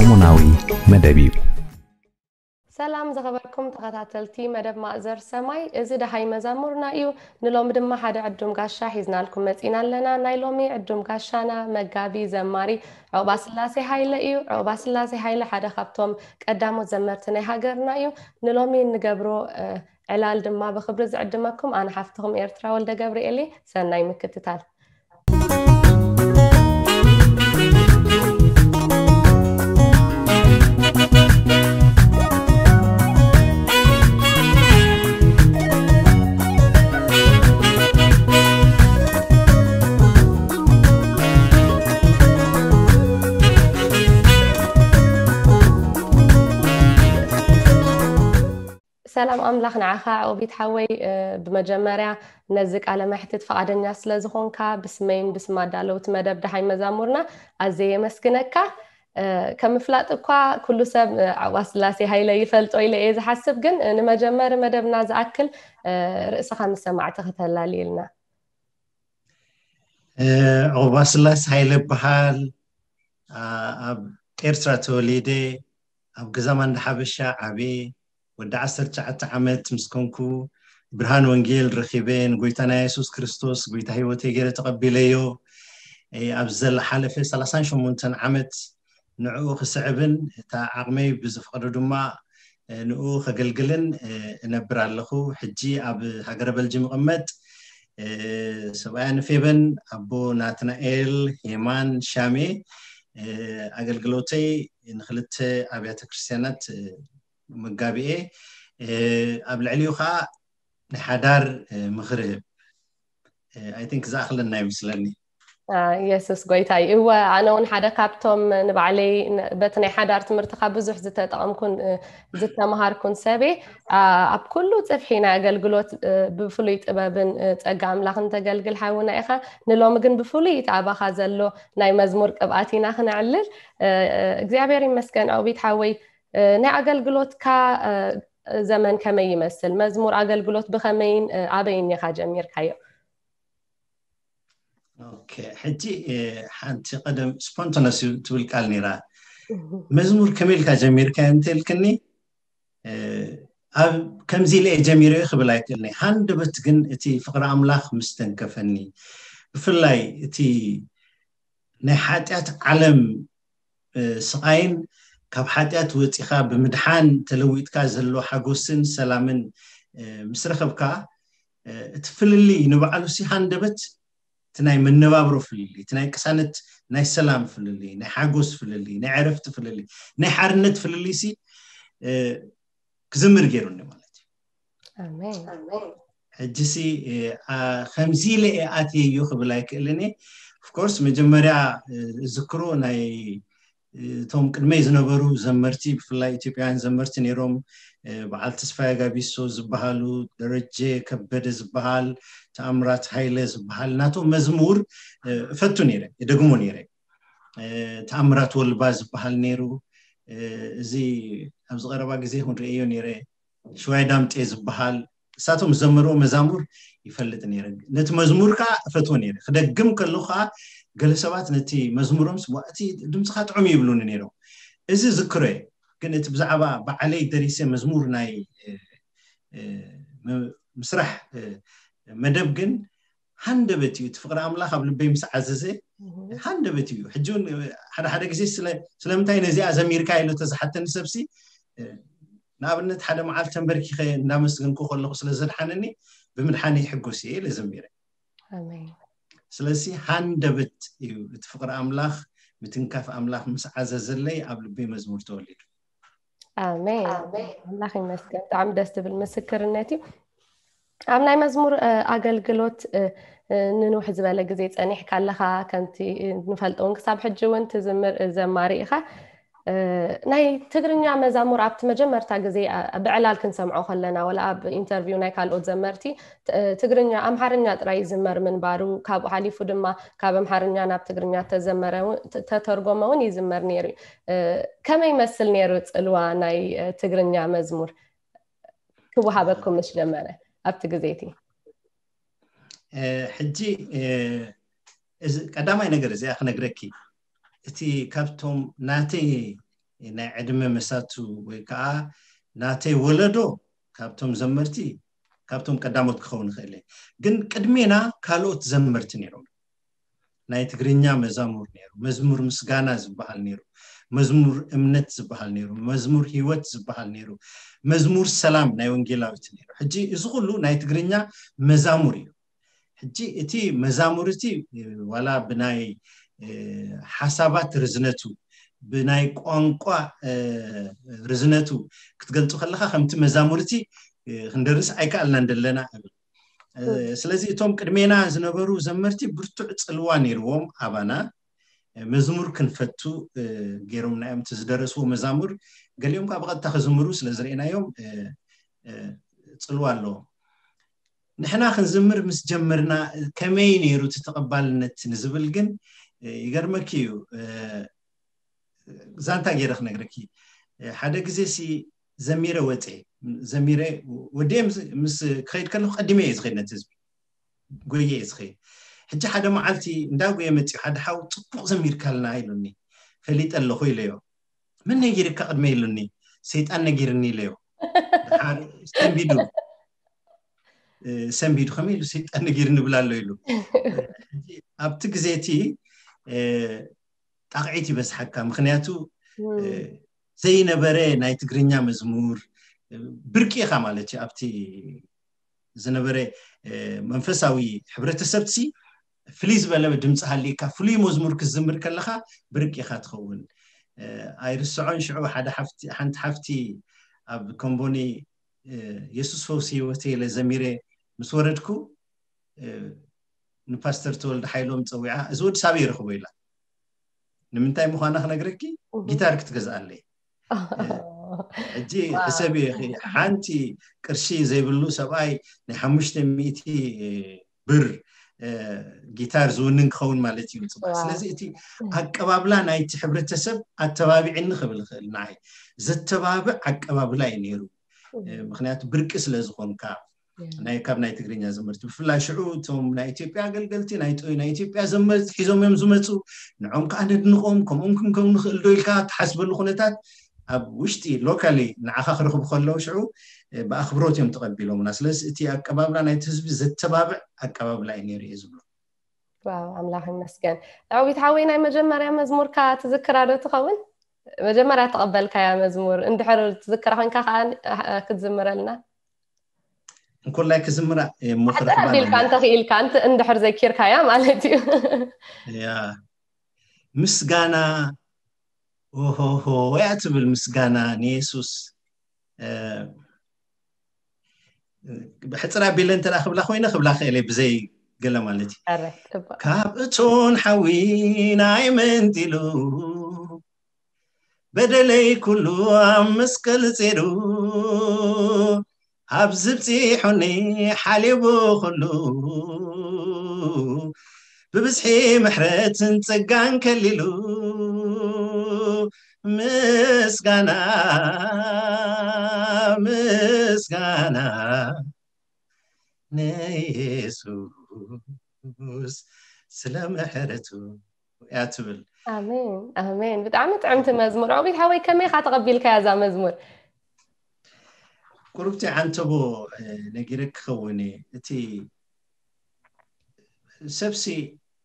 ሰሙናዊ መደብ እዩ። ሰላም ዝኸበርኩም ተኸታተልቲ መደብ ማእዘር ሰማይ፣ እዚ ደሃይ መዛሙርና እዩ። ንሎሚ ድማ ሓደ ዕዱም ጋሻ ሒዝናልኩም መጺና ኣለና። ናይ ሎሚ ዕዱም ጋሻና መጋቢ ዘማሪ ዑቕባ ስላሴ ሃይለ እዩ። ዑቕባ ስላሴ ሃይለ ሓደ ካብቶም ቀዳሞት ዘመርቲ ናይ ሃገርና እዩ። ንሎሚ እንገብሮ ዕላል ድማ ብኽብሪ ዝዕድመኩም ኣነ ሓፍትኹም ኤርትራ ወልደ ገብርኤል። ሰናይ ምክትታል። ሰላም ኣምላኽ ንዓኻ ዑቕቢት ሓወይ። ብመጀመርያ ነዚ ቃለ መሕትት ፈቓደኛ ስለ ዝኾንካ ብስመይን ብስም ኣዳለውቲ መደብ ደሃይ መዛሙርና ኣዝየ የመስግነካ። ከም ምፍላጥ እኳ ኩሉ ሰብ ዑቕባ ስላሴ ሃይለ ይፈልጦ ኢለ እየ ዝሓስብ፣ ግን ንመጀመሪ መደብና ዝኣክል ርእስኻ ምስ ሰማዕቲ ከተላልየልና። ዑቕባ ስላሴ ሃይለ እበሃል። ኣብ ኤርትራ ተወሊደ፣ ኣብ ገዛ ማንዳ ሓበሻ ዓብየ። ወዲ ዓሰርተ ትሽዓተ ዓመት ምስ ኮንኩ ብርሃን ወንጌል ረኺበ፣ ንጎይታና የሱስ ክርስቶስ ጎይታ ህይወተይ ገይረ ተቐቢለዮ። ኣብ ዝሓለፈ ሰላሳን ሸሞንተን ዓመት ንዕኡ ክስዕብን እታ ዓቕመይ ብዝፈቕዶ ድማ ንኡ ከገልግልን እነብር ኣለኹ። ሕጂ ኣብ ሃገረ በልጅም እቕመጥ። ሰብኣያ ንፌበን ኣቦ ናትናኤል ሄማን ሻሜ። ኣገልግሎተይ ንክልተ ኣብያተ ክርስቲያናት መጋቢኤ። ኣብ ልዕሊኡ ከዓ ናይ ሓዳር ምኽሪ ህብ። I think ዝኣኽለና ይመስለኒ። የሱስ ጎይታ እዩ። እወ፣ ኣነ እውን ሓደ ካብቶም ንባዕለይ በቲ ናይ ሓዳር ትምህርትኻ ብዙሕ ዝተጠቐምኩን ዝተምሃርኩን ሰብየ። ኣብ ኩሉ ጽፍሒ ናይ ኣገልግሎት ብፍሉይ ጥበብን ጸጋ ኣምላኽን ተገልግል ሓውና ኢኻ። ንሎሚ ግን ብፍሉይ እቲ ኣባኻ ዘሎ ናይ መዝሙር ቅብኣት ኢና ክነዕልል። እግዚኣብሔር ይመስገን ዑቕቢት ሓወይ። ናይ ኣገልግሎትካ ዘመን ከመይ ይመስል? መዝሙር ኣገልግሎት ብኸመይን ኣበይን ኢኻ ጀሚርካዮ? ኦኬ፣ ሕጂ ሓንቲ ቀደም ስፖንቶነስ ትብል ቃል ነይራ። መዝሙር ከመይ ኢልካ ጀሚርካ እንተልክኒ፣ ኣብ ከምዚ ኢለ እየ ጀሚረ ክብል ኣይክእልኒ። ሃንደበት ግን እቲ ፍቕሪ ኣምላኽ ምስ ተንከፈኒ፣ ብፍላይ እቲ ናይ ሓጢኣት ዓለም ስቓይን ካብ ሓጢኣት ወፂኻ ብምድሓን ተለዊጥካ ዘሎ ሓጎስን ሰላምን ምስ ረኸብካ፣ እቲ ፍልልይ ንባዕሉ ሲ ሃንደበት እቲ ናይ መነባብሮ ፍልልይ፣ እቲ ናይ ቅሳነት ናይ ሰላም ፍልልይ፣ ናይ ሓጎስ ፍልልይ፣ ናይ ዕረፍቲ ፍልልይ፣ ናይ ሓርነት ፍልልይ ሲ ክዝምር ገይሩኒ ማለት እዩ። ኣሜን። ሕጂ ሲ ከምዚ ኢለ እየ ኣትየዮ ክብል ኣይክእልን እየ። ኦፍኮርስ መጀመርያ ዝክሮ ናይ እቶም ቅድመይ ዝነበሩ ዘመርቲ፣ ብፍላይ ኢትዮጵያውያን ዘመርቲ ነይሮም። በዓል ተስፋዬ ጋቢሶ ዝበሃሉ፣ ደረጀ ከበደ ዝበሃል፣ ተኣምራት ሃይለ ዝበሃል ናቶም መዝሙር እፈቱ ነይረ፣ እደግሞ ነይረ። ተኣምራት ወልባ ዝበሃል ነይሩ። እዚ ኣብዚ ቀረባ ግዜ ክንርእዮ ነይረ። ሽዋይ ዳምጤ ዝበሃል እሳቶም ዝዘመርዎ መዛሙር ይፈልጥ ነይረ። ነቲ መዝሙር ከዓ እፈትዎ ነይረ። ክደግም ከለኹ ከዓ ገለ ሰባት ነቲ መዝሙሮም ስዋ እቲ ድምፅኻ ጥዑም ይብሉኒ ነይሮም። እዚ ዝክሮ እየ። ግን እቲ ብዛዕባ ባዕለይ ደሪሰ መዝሙር ናይ ምስራሕ መደብ ግን ሃንደበት እዩ። እቲ ፍቕሪ ኣምላኽ ኣብ ልበይ ምስ ዓዘዘ ሃንደበት እዩ። ሕጂ እውን ሓደ ሓደ ግዜ ስለምንታይ ነዚኣ ዘሚርካ ኢሉ ተዝሓተኒ ሰብሲ፣ ንኣብነት ሓደ መዓልቲ ተንበርኪኸ እንዳመስገንኩ ከለኹ ስለ ዘድሓነኒ ብምድሓነይ ይሕጎስ እየ ኢለ ዘሚረ። ስለዚ ሃንደበት እዩ እቲ ፍቕሪ ኣምላኽ ምትንካፍ ኣምላኽ ምስ ዓዘዘለይ ኣብ ልበይ መዝሙር ተወሊዱ። ኣሜን። ኣምላኽ ይመስገን። ብጣዕሚ ደስ ዝብል ምስክርነት እዩ። ኣብ ናይ መዝሙር ኣገልግሎት ንንውሕ ዝበለ ግዜ ጸኒሕካ ኣለኻ። ከምቲ ንፈልጦ እውን ክሳብ ሕጂ እውን ትዝምር ዘማሪ ኢኻ። ናይ ትግርኛ መዛሙር ኣብቲ መጀመርታ ግዜ ብዕላል ክንሰምዖ ከለና፣ ወላ ኣብ ኢንተርቪው ናይ ካልኦት ዘመርቲ ትግርኛ፣ ኣምሓርኛ ጥራይ ይዝመር ምንባሩ፣ ካብኡ ሓሊፉ ድማ ካብ ኣምሓርኛ ናብ ትግርኛ ተዘመረ እውን ተተርጎመ እውን ይዝመር ነይሩ። ከመይ ይመስል ነይሩ ጽልዋ ናይ ትግርኛ መዝሙር ክወሃበኩም ምስ ጀመረ ኣብቲ ግዜ እቲ? ሕጂ እዚ ቀዳማይ ነገር እዚኣ ክነግረኪ፣ እቲ ካብቶም ናተይ ናይ ዕድመ መሳቱ ወይ ከዓ ናተይ ወለዶ ካብቶም ዘመርቲ ካብቶም ቀዳሞት ክኸውን ይኽእል እየ። ግን ቅድሜና ካልኦት ዘመርቲ ነይሮም። ናይ ትግርኛ መዛሙር ነይሩ፣ መዝሙር ምስጋና ዝበሃል ነይሩ፣ መዝሙር እምነት ዝበሃል ነይሩ፣ መዝሙር ህይወት ዝበሃል ነይሩ፣ መዝሙር ሰላም ናይ ወንጌላዊት ነይሩ። ሕጂ እዚ ኩሉ ናይ ትግርኛ መዛሙር እዩ። ሕጂ እቲ መዛሙር እቲ ዋላ ብናይ ሓሳባት ርዝነቱ፣ ብናይ ቋንቋ ርዝነቱ ክትገልፁ ከለካ ከምቲ መዛሙር እቲ ክንደርስ ኣይከኣልናን ደለና እብል። ስለዚ እቶም ቅድሜና ዝነበሩ ዘመርቲ ብርቱዕ ፅልዋ ነይርዎም ኣባና። መዝሙር ክንፈቱ ገይሮምና እዮም። እቲ ዝደረስዎ መዛሙር ገሊኦም ከዓ ብቐጥታ ክዝምሩ ስለ ዝርኢናዮም ፅልዋ ኣለዎም። ንሕና ክንዝምር ምስ ጀመርና ከመይ ነይሩ እቲ ተቐባልነት ንዝብል ግን ይገርመኪ እዩ። ዛንታ ገይረ ክነግረኪ። ሓደ ግዜ ሲ ዘሚረ ወፀ ዘሚረ ወደ ምስ ክኸይድ ከለኩ ቀዲመ እየ ዝኸይድ ነቲ ህዝቢ ጎየ እየ ዝኸይድ። ሕጂ ሓደ መዓልቲ እንዳጎየ መፅኡ ሓደ ሓው ፅቡቅ ዘሚርካልና ኢሉኒ። ፈሊጠ ኣለኹ ኢለዮ። መን ነጊርካ ቅድመ ኢሉኒ። ሰይጣን ነጊርኒ ኢለዮ። ሰንቢዱ ሰንቢዱ ከመይ ኢሉ ሰይጣን ነጊርኒ ብላ ኣሎ ኢሉ። ኣብቲ ግዜ እቲ ጣቕዒት ይበዝሓካ። ምክንያቱ ዘይነበረ ናይ ትግርኛ መዝሙር ብርቂ ኢኻ ማለት እዩ። ኣብቲ ዝነበረ መንፈሳዊ ሕብረተሰብሲ ፍልይ ዝበለ ድምፂ ሃልካ ፍሉይ መዝሙር ክትዝምር ከለካ ብርቂ ኢኻ ትኸውን። ኣይርስዖን ሽዑ ሓደ ሓንቲ ሓፍቲ ኣብ ኮምቦኒ የሱስ ፈውሲ ህይወተ ኢለ ዘሚረ ምስ ወረድኩ ንፓስተር ተወልደ ሓይሎም ፀዊዓ እዚ ወዲ ሳበይ ይረኽቦ ኢላ። ንምንታይ ምዃና ክነግረኪ ጊታር ክትገዝኣለይ። ሕጂ ሕሰብ ሓንቲ ቅርሺ ዘይብሉ ሰብኣይ ናይ ሓሙሽተ ሚእቲ ብር ጊታር ዝውንን ክኸውን ማለት እዩ ፅባሕ። ስለዚ እቲ ኣቀባብላ ናይቲ ሕብረተሰብ ኣተባቢዕኒ ክብል ይኽእል። ንዓይ ዘተባብዕ ኣቀባብላ እዩ ነይሩ። ምክንያቱ ብርቂ ስለ ዝኾንካ ናይ ካብ ናይ ትግርኛ ዘመርቲ ብፍላይ ሽዑ እቶም ናይ ኢትዮጵያ ኣገልገልቲ ናይ ጥ- ናይ ኢትዮጵያ ዘመርቲ ሒዞም እዮም ዝመፁ። ንዖም ከዓ ነድንቆም ከምኦም ክንከውን ንኽእል ዶ ኢልካ ትሓስበሉ ኩነታት ኣብ ውሽጢ ሎካሊ ንዓኻ ክረኽቡ ከለዉ ሽዑ ብኣኽብሮት እዮም ተቐቢሎምና። ስለዚ እቲ ኣቀባብላ ናይቲ ህዝቢ ዘተባብዕ ኣቀባብላ እዩ ነይሩ እየ ዝብሎ። ኣምላኽ ይመስገን። ዳዊት ሓወይ ናይ መጀመርያ መዝሙርካ ትዝክራ ዶ ትኸውን? መጀመርያ ተቐበልካያ መዝሙር እንድሕር ትዝክራ ኮንካ ከዓ ክትዝምረልና። እንኮላይ ክዝምራ እሞ ክረኽባ ኣቢልካ እንተኽኢልካ እንድሕር ዘኪርካያ ማለት እዩ። ያ ምስጋና ኦሆሆ ወያ ትብል ምስጋና ንየሱስ። ብሕፅር ኣቢለ እንተ ክብላ ኮይነ ክብላ ክእለ ብዘይ ገለ ማለት እዩ። ካብ እቶን ሓዊ ናይ መንጢሉ በደለይ ኩሉ ኣብ መስቀል ፂሩ ኣብ ዝብፂሑኒ ሓሊቡ ኩሉ ብብዝሒ ምሕረትን ጸጋን ከሊሉ ምስጋና ምስጋና ንየሱስ ስለ ምሕረቱ እያ ትብል። ኣሜን ኣሜን። ብጣዕሚ ጥዕምቲ መዝሙር። ዑቢት ሓወይ ከመይ ኢኻ ተቐቢልካያ እዛ መዝሙር? ቁርብቲ ዓንተቦ ነጊረ ክኸውን እየ። እቲ ሰብሲ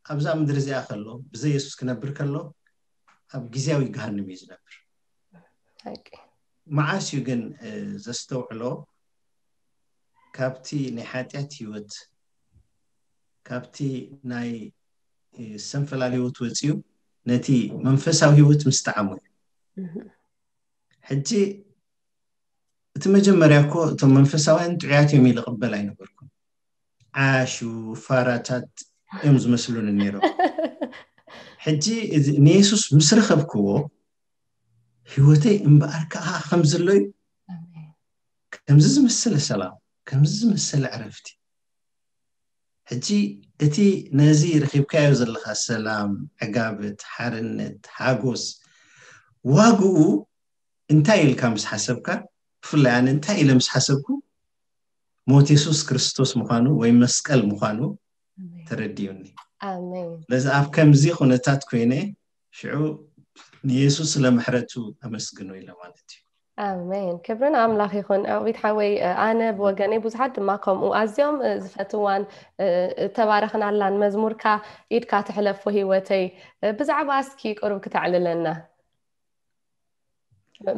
ኣብዛ ምድሪ እዚኣ ከሎ ብዘይ የሱስ ክነብር ከሎ ኣብ ግዜያዊ ገሃንም እዩ ዝነብር። መዓስ እዩ ግን ዘስተውዕሎ ካብቲ ናይ ሓጢኣት ህይወት ካብቲ ናይ ሰንፈላል ህይወት ወፂኡ ነቲ መንፈሳዊ ህይወት ምስ ጠዓሞ እዩ። ሕጂ እቲ መጀመርያ እኮ እቶም መንፈሳውያን ጥዑያት እዮም ኢለ ቅበል ኣይነበርኩም። ዓያሹ ፋራታት እዮም ዝመስሉኒ ነይሮም። ሕጂ ንየሱስ ምስ ረኸብክዎ ህይወተይ እምበኣር ከዓ ከም ዘሎ እዩ። ከምዚ ዝመሰለ ሰላም፣ ከምዚ ዝመሰለ ዕረፍቲ። ሕጂ እቲ ነዚ ረኺብካዮ ዘለኻ ሰላም፣ ዕጋበት፣ ሓርነት፣ ሓጎስ ዋግኡ እንታይ ኢልካ ምስ ሓሰብካ፣ ብፍላይ ኣነ እንታይ ኢለ ምስ ሓሰብኩ ሞት የሱስ ክርስቶስ ምዃኑ ወይ መስቀል ምዃኑ ተረዲኡኒ። ስለዚ ኣብ ከምዚ ኩነታት ኮይነ ሽዑ ንየሱስ ስለ ምሕረቱ ኣመስግኖ ኢለ ማለት እዩ። ኣሜን። ክብርን ኣምላኽ ይኹን። ኣዊት ሓወይ፣ ኣነ ብወገነይ ብዙሓት ድማ ከምኡ ኣዝዮም ዝፈትዋን ተባረኽናላን መዝሙርካ ኢድካ ትሕለፎ ህይወተይ፣ ብዛዕባ እስኪ ቁሩብ ክተዕልለና።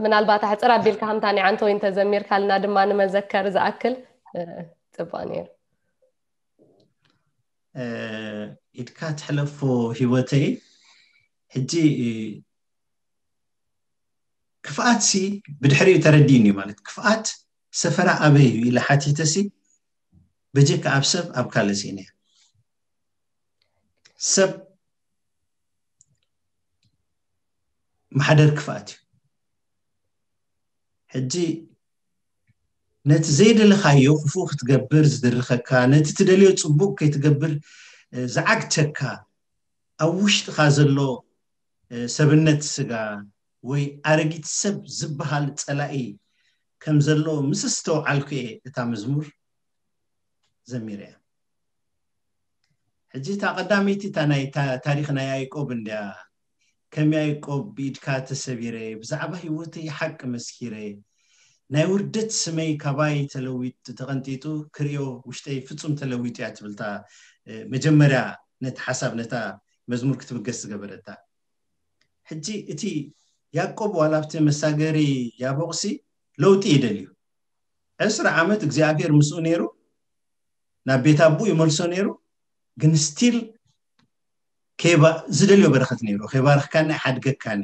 ምናልባት ኣሕፅር ኣቢልካ ከምታ ናይ ዓንተወይ እንተዘሚርካልና ድማ ንመዘከር ዝኣክል ጽቡቕ ነይሩ። ኢድካ ትሕለፎ ህይወተይ። ሕጂ ክፍኣት ሲ ብድሕሪኡ ተረዲእኒ ማለት፣ ክፍኣት ሰፈራ ኣበይ እዩ ኢለ ሓቲተ ሲ በጀካ ኣብ ሰብ ኣብ ካልእ ሲ ሰብ ማሕደር ክፍኣት እዩ። ሕጂ ነቲ ዘይደለኻዮ ክፉእ ክትገብር ዝድርኸካ፣ ነቲ ትደልዮ ጽቡቕ ከይትገብር ዝዓግተካ፣ ኣብ ውሽጥኻ ዘሎ ሰብነት ስጋ ወይ ኣረጊት ሰብ ዝበሃል ጸላኢ ከም ዘሎ ምስ ዝተውዓልኩ እየ እታ መዝሙር ዘሚረ እያ። ሕጂ እታ ቀዳመይቲ እታ ናይ ታሪኽ ናይ ያዕቆብ እንድያ። ከም ያዕቆብ ብኢድካ ተሰቢረ፣ ብዛዕባ ህይወተይ ሓቂ መስኪረ፣ ናይ ውርደት ስመይ ካባይ ተለዊጡ ተቐንጢጡ ክሪኦ ውሽጠይ ፍጹም ተለዊጡ እያ ትብልታ። መጀመርያ ነቲ ሓሳብ ነታ መዝሙር ክትብገስ ዝገበረታ። ሕጂ እቲ ያዕቆብ ዋላ ኣብቲ መሳገሪ ያቦቕሲ ለውጢ ይደልዩ። ዕስራ ዓመት እግዚኣብሔር ምስኡ ነይሩ፣ ናብ ቤት ኣቦኡ ይመልሶ ነይሩ። ግን ስቲል ዝደልዮ በረኸት ነይሩ። ከይባርኽካኒ ኣይሓድገካኒ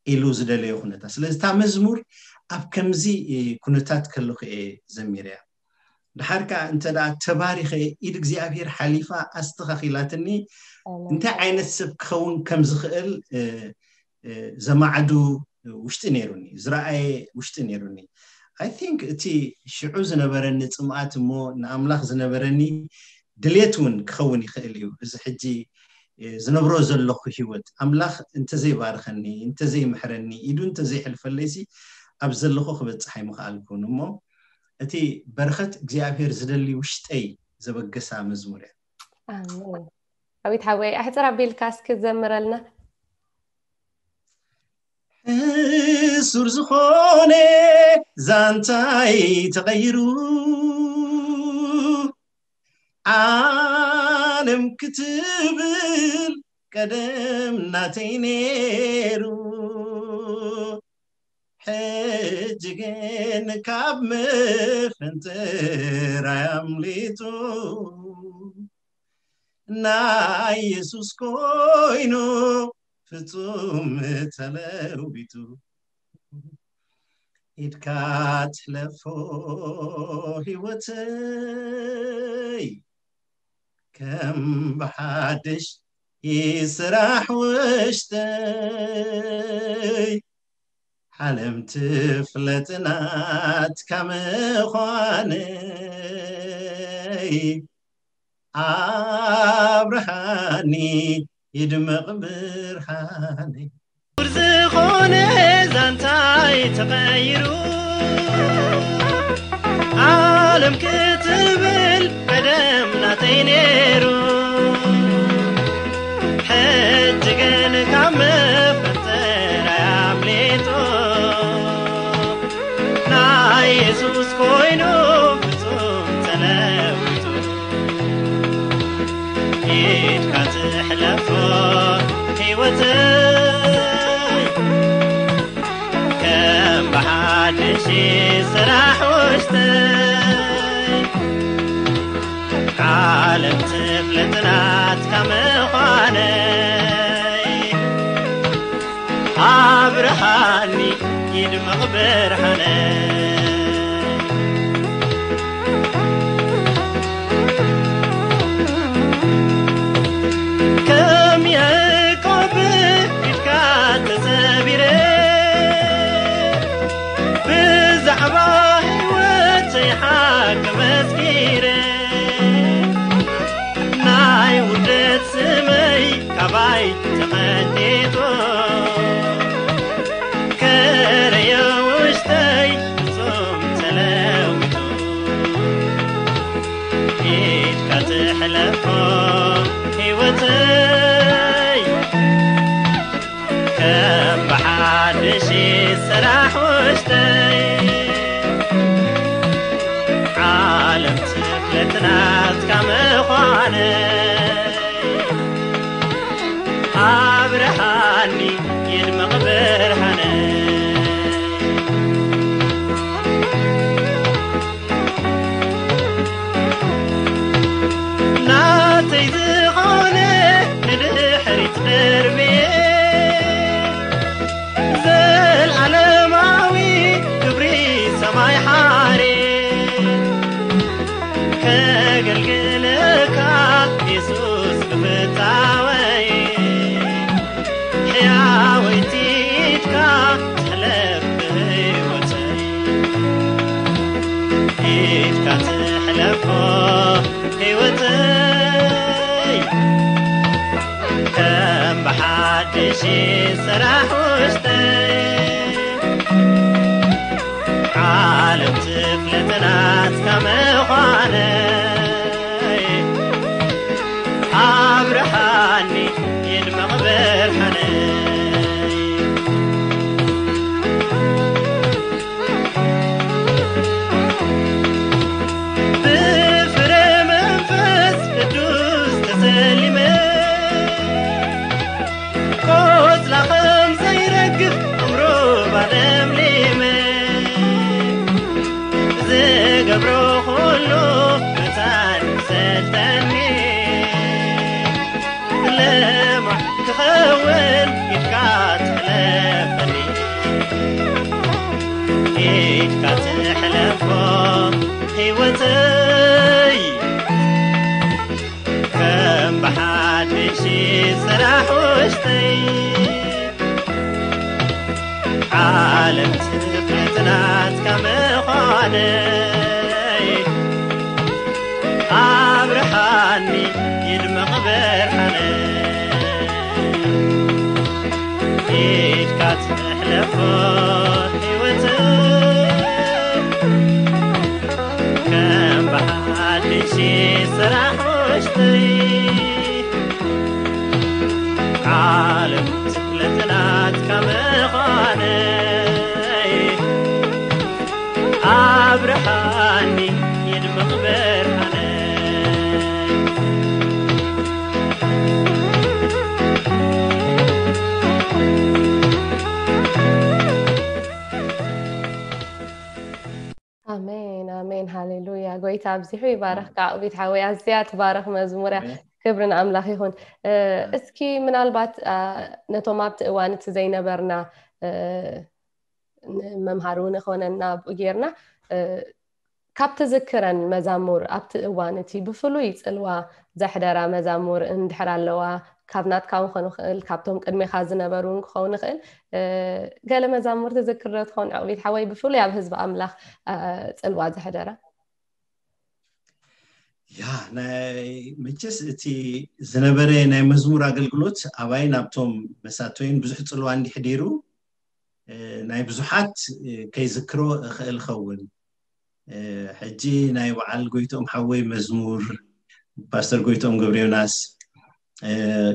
ኢሉ ዝደለዮ ኩነታት። ስለዚ እታ መዝሙር ኣብ ከምዚ ኩነታት ከለኹ እየ ዘሚረያ። ድሓር ከዓ እንተ ደኣ ተባሪኸ ኢድ እግዚኣብሔር ሓሊፋ ኣስተኻኺላትኒ እንታይ ዓይነት ሰብ ክኸውን ከም ዝኽእል ዘማዕዱ ውሽጢ ነይሩኒ፣ ዝረኣየ ውሽጢ ነይሩኒ። I think እቲ ሽዑ ዝነበረኒ ጽምኣት እሞ ንኣምላኽ ዝነበረኒ ድሌት እውን ክኸውን ይኽእል እዩ። እዚ ሕጂ ዝነብሮ ዘለኹ ህይወት ኣምላኽ እንተዘይባርኸኒ፣ እንተዘይምሕረኒ፣ ኢዱ እንተዘይሕልፈለይሲ ኣብ ዘለኹ ክበጽሕ ኣይምኽኣልኩን። እሞ እቲ በረኸት እግዚኣብሔር ዝደሊ ውሽጠይ ዘበገሳ መዝሙር እያ። ኣሜን። ኣዊት ሓወይ ኣሕፅር ኣቢልካ እስኪ ዘምረልና። ሕሱር ዝኾነ ዛንታይ ተቐይሩ፣ ዓለም ክትብል ቀደም ናተይ ነይሩ። ሕጂ ግን ካብ መፈንጠራይ ኣምሊጡ፣ ናይ የሱስ ኮይኑ ፍጹም ተለዊጡ። ኢድካ ትሕለፎ ህይወተይ፣ ከም ብሓድሽ ይስራሕ ውሽጠይ። ዓለም ትፍለጥ ናትካ ምዃነይ፣ ኣብርሃኒ ይድመቕ ብርሃነይ። ዝኾነ ዛንታይ ተቐይሩ፣ ዓለም ክትብል ቀደም ናተይ ነይሩ። ሕጂ ግን ካብ መፈንጠራይ ኣምሊጡ፣ ናይ የሱስ ኮይኑ ፍጹም ተለዊጡ። ኢድካ ትሕለፎ ህይወተይ፣ ከም ብሓድሽ ስራሕ ውሽጠይ። ዓለም ትፍለጥ ናትካ ምዃነይ፣ ኣብርሃኒ ይድመቕ ብርሃነይ። ከም ያዕቆብ ኢድካ ተሰቢረ፣ ብዛዕባ ህይወተይ ሓቂ መስኪረ፣ ናይ ውርደት ስመይ ካባይ ተቐንጢጡ፣ ከረዮ ውሽጠይ ፍጹም ተለዊጡ። ኢድካ ትሕለፎ ህይወተይ፣ ከም እሺ፣ ስራሕ ውሽጠይ ዓለም ትፍለጥ ናትካ ምዃነ ኣብርሃኒ ይድመቕ ብርሃነ። ናተይ ዝኾነ ንድሕሪት ደርብየ ዘልኣለማዊ ክብሪ ሰማይ ሓሬ ከገልግለካ የሱስ ብፍታወይ ሕያወይቲ ኢድካ ትሕለፍ ብህይወተይ ኢድካ ትሕለፎ ህይወተይ ከም ብሓድሽ ስራሕ ውሽጠይ ዓለም ትፍለጥ ናትካ ምዃነይ ኣብርሃኒ ይድመቕ ብርሃነይ። ብፍረ መንፈስ ቅዱስ ተሰሊመ ቆጽላ ከም ዘይረግፍ ዕምሩባ ለምሊመ ዝገብሮ ኩሉ መታን ሰልጠኒ ለማዕ ክኸውን ኢድካ ትሕለፈኒ ኢድካ ትሕለፎ ህይወተይ ከም ብሓድሽ ስራሕ ውሽጠይ ዓለም ትፍለጥ ናትካ ምዃነይ ኣብርሃኒ ይድመቕ ብርሃነይ ኢድካ ትሕለፎ ህይወተይ ከም ብሓድሽ ስራሕ ውሽጠይ ዓለም ትፍለጥ ናትካ ምዃነይ ኣብርሃኒ ይድመቕ ብርሃነይ። ኣሜን፣ ኣሜን፣ ሃሌሉያ። ጎይታ ኣብዚሑ ይባረኽካ። ኣሜን። ዑቢት ሓወይ፣ ኣዝያ ትባረኽ መዝሙር እያ። ኣሜን። ክብሪ ንኣምላኽ ይኹን። እ፣ ኣሜን። እስኪ ምናልባት፣ ኣ፣ ነቶም ኣብቲ እዋን እቲ ዘይነበርና፣ እ፣ ንመምሃሪ እውን ይኾነና ኣብኡ ጌርና፣ እ፣ ካብ ትዝክረን መዛሙር ኣብቲ እዋን እቲ ብፍሉይ ጽልዋ ዘሕደራ መዛሙር እንድሕር ኣለዋ፣ ካብ ናትካ እውን ክኾን ይኽእል፣ ካብቶም ቅድሜኻ ዝነበሩ እውን ክኸውን ይኽእል፣ እ፣ ገለ መዛሙር ትዝክር ዶ ትኾን ዕቕቢት ሓወይ፣ ብፍሉይ ኣብ ህዝቢ ኣምላኽ፣ እ፣ ጽልዋ ዘሕደራ? ያ፣ ናይ መቸስ እቲ ዝነበረ ናይ መዝሙር ኣገልግሎት ኣባይን ኣብቶም መሳተይን ብዙሕ ጽልዋ እንዲሕዲሩ፣ እ፣ ናይ ብዙሓት፣ እ፣ ከይዝክሮ እኽእል ኸውን። እ፣ ሕጂ ናይ በዓል ጎይትኦም ሓወይ መዝሙር፣ ፓስተር ጎይትኦም ገብረ ዮናስ፣ እ፣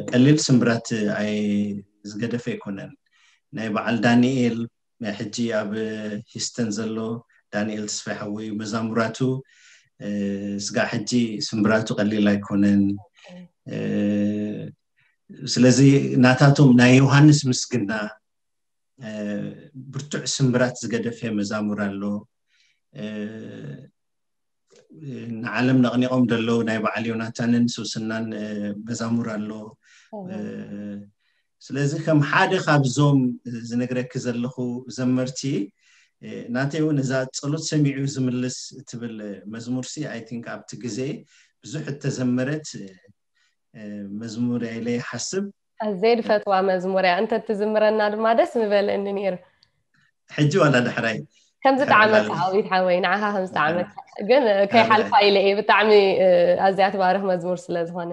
ቀሊል ስምብራት ኣይ-፣ ዝገደፈ ኣይኮነን። ናይ በዓል ዳንኤል፣ ናይ ሕጂ ኣብ ሂስተን ዘሎ ዳንኤል ተስፋይ ሓወይ መዛሙራቱ፣ እ፣ ስጋዕ ሕጂ ስምብራቱ ቀሊል ኣይኮነን። እ፣ ስለዚ ናታቶም ናይ ዮሃንስ ምስግና፣ እ፣ ብርቱዕ ስምብራት ዝገደፈ መዛሙር ኣሎ። እ፣ ንዓለም ነቕኒቖም ዘለዉ ናይ በዓል ዮናታንን ሶስናን፣ እ፣ መዛሙር ኣሎ። እዎ። እ፣ ስለዚ ከም ሓደ ካብዞም ዝነግረኪ ዘለኹ ዘመርቲ፣ እ፣ ናተይ እውን እዛ ጸሎት ሰሚዑ ዝምልስ እትብል መዝሙርሲ፣ I think ኣብቲ ግዜ ብዙሕ እተዘመረት፣ እ፣ መዝሙር እያ ኢለ ይሓስብ። ኣዝየ ዝፈትዋ መዝሙር እያ። እንተ ትዝምረና ድማ ደስ ምበለኒ ነይሩ። ሕጂ ዋላ ዳሕራይ ከምዚ ድሕሪ ጣዕመካ ዕላል። ዓዊት ሓወይ፣ ንዓኻ ከምዚ ጣዕመካ። ግን፣ እ፣ ከይሓልፋ ዳሕራይ። ኢለ እየ። ብጣዕሚ፣ እ፣ ኣዝያ ትባርኽ መዝሙር ስለ ዝኾነ።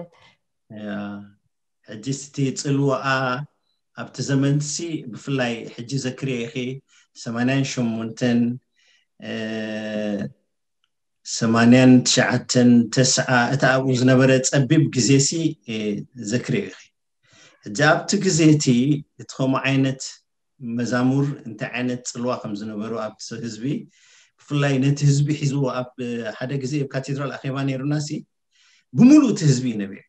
ያ፣ ሕጂ ስቲ ጽልዋኣ ኣብቲ ዘመንሲ ብፍላይ ሕጂ ዘክርዮ ኢኺ፣ ሰማንያን ሸሞንተን፣ እ፣ ሰማንያን ትሽዓተን፣ ተስዓ፣ እቲ ኣብኡ ዝነበረ ጸቢብ ግዜሲ፣ እ፣ ዘክርዮ ኢኺ። ሕጂ ኣብቲ ግዜ እቲ፣ እቲ ከምኡ ዓይነት መዛሙር እንታይ ዓይነት ጽልዋ ከም ዝነበሩ ኣብቲ ህዝቢ፣ ብፍላይ ነቲ ህዝቢ ሒዝዎ ኣብ ሓደ ግዜ ኣብ ካቴድራል ኣኼባ ነይሩና ሲ፣ ብምሉእ እቲ ህዝቢ እዩ ነቢዑ።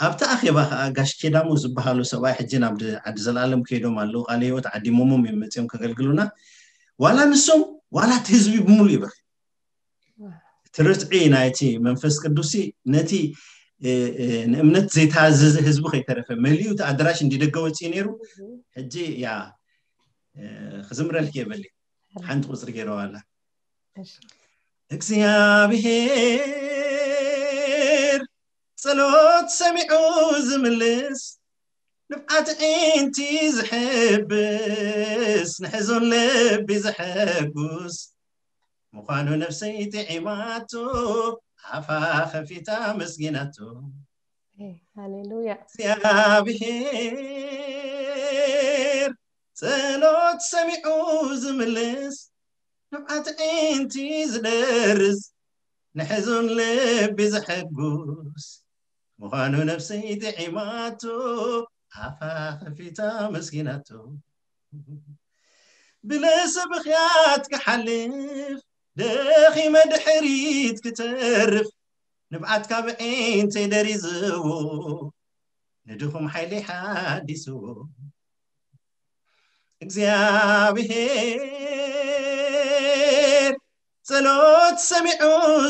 ኣብቲ ኣኼባ ከዓ ጋሽ ኬዳሞ ዝበሃሉ ሰብኣይ ሕጂ ናብ ድ- ዓዲ ዘላለም ከይዶም ኣለዉ። ቃለ ህይወት ዓዲሞሞም እዮም መፅዮም ከገልግሉና። ዋላ ንሶም ዋላ እቲ ህዝቢ ብምሉእ ይበኽ። እቲ ርትዒ ናይቲ መንፈስ ቅዱስ ነቲ እ፣ እ፣ ንእምነት ዘይተኣዘዘ ህዝቢ ከይተረፈ መሊኡ እቲ ኣዳራሽ እንዲደገ ወፅኡ ነይሩ። ሕጂ ያ እ፣ ክዝምረልክ የበሊ ሓንቲ ቁፅሪ ገይረዋ ኣላ። እግዚኣብሔር ጸሎት ሰሚዑ ዝምልስ፣ ንብዓት ዒንቲ ዝሕብስ፣ ንሕዙን ልቢ ዘሐጉስ ምዃኑ ነፍሰይ ጥዒማቶ፣ ኣፋ ከፊታ መስጊናቶ። ሃሌሉያ። እግዚኣብሔር ጸሎት ሰሚዑ ዝምልስ፣ ንብዓት ዒንቲ ዝደርስ፣ ንሕዙን ልቢ ዘሐጉስ ምዃኑ ነፍሰይ ጥዒማቶ፣ ኣፋ ከፊታ መስጊናቶ። ብለሰ ብኽያት ክሓልፍ፣ ደኺመ ድሕሪት ክተርፍ፣ ንብዓት ካብ ዒንተይ ደሪዝዎ፣ ንድኹም ሓይሊ ሓዲስዎ። እግዚኣብሔር ጸሎት ሰሚዑ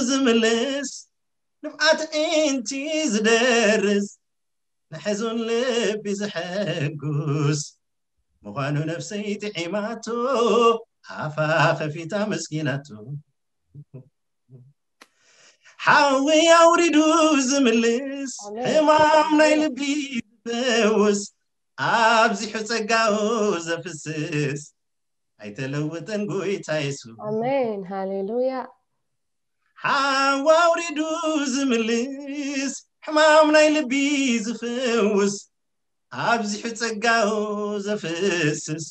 ዝምልስ፣ ንብዓት ዒንቲ ዝደርስ፣ ንሕዙን ልቢ ዘሐጉስ ምዃኑ ነፍሰይ ጥዒማቶ፣ ኣፋ ከፊታ መስጊናቶ። ሓዊ ኣውሪዱ ዝምልስ፣ ሕማም ናይ ልቢ ዝፈውስ፣ ኣብዚሑ ጸጋኡ ዘፍስስ፣ ኣይተለውጥን ጎይታ የሱስ። ኣሜን። ሃሌሉያ። ሓዊ ኣውሪዱ ዝምልስ፣ ሕማም ናይ ልቢ ዝፍውስ፣ ኣብዚሑ ጸጋኡ ዘፍስስ፣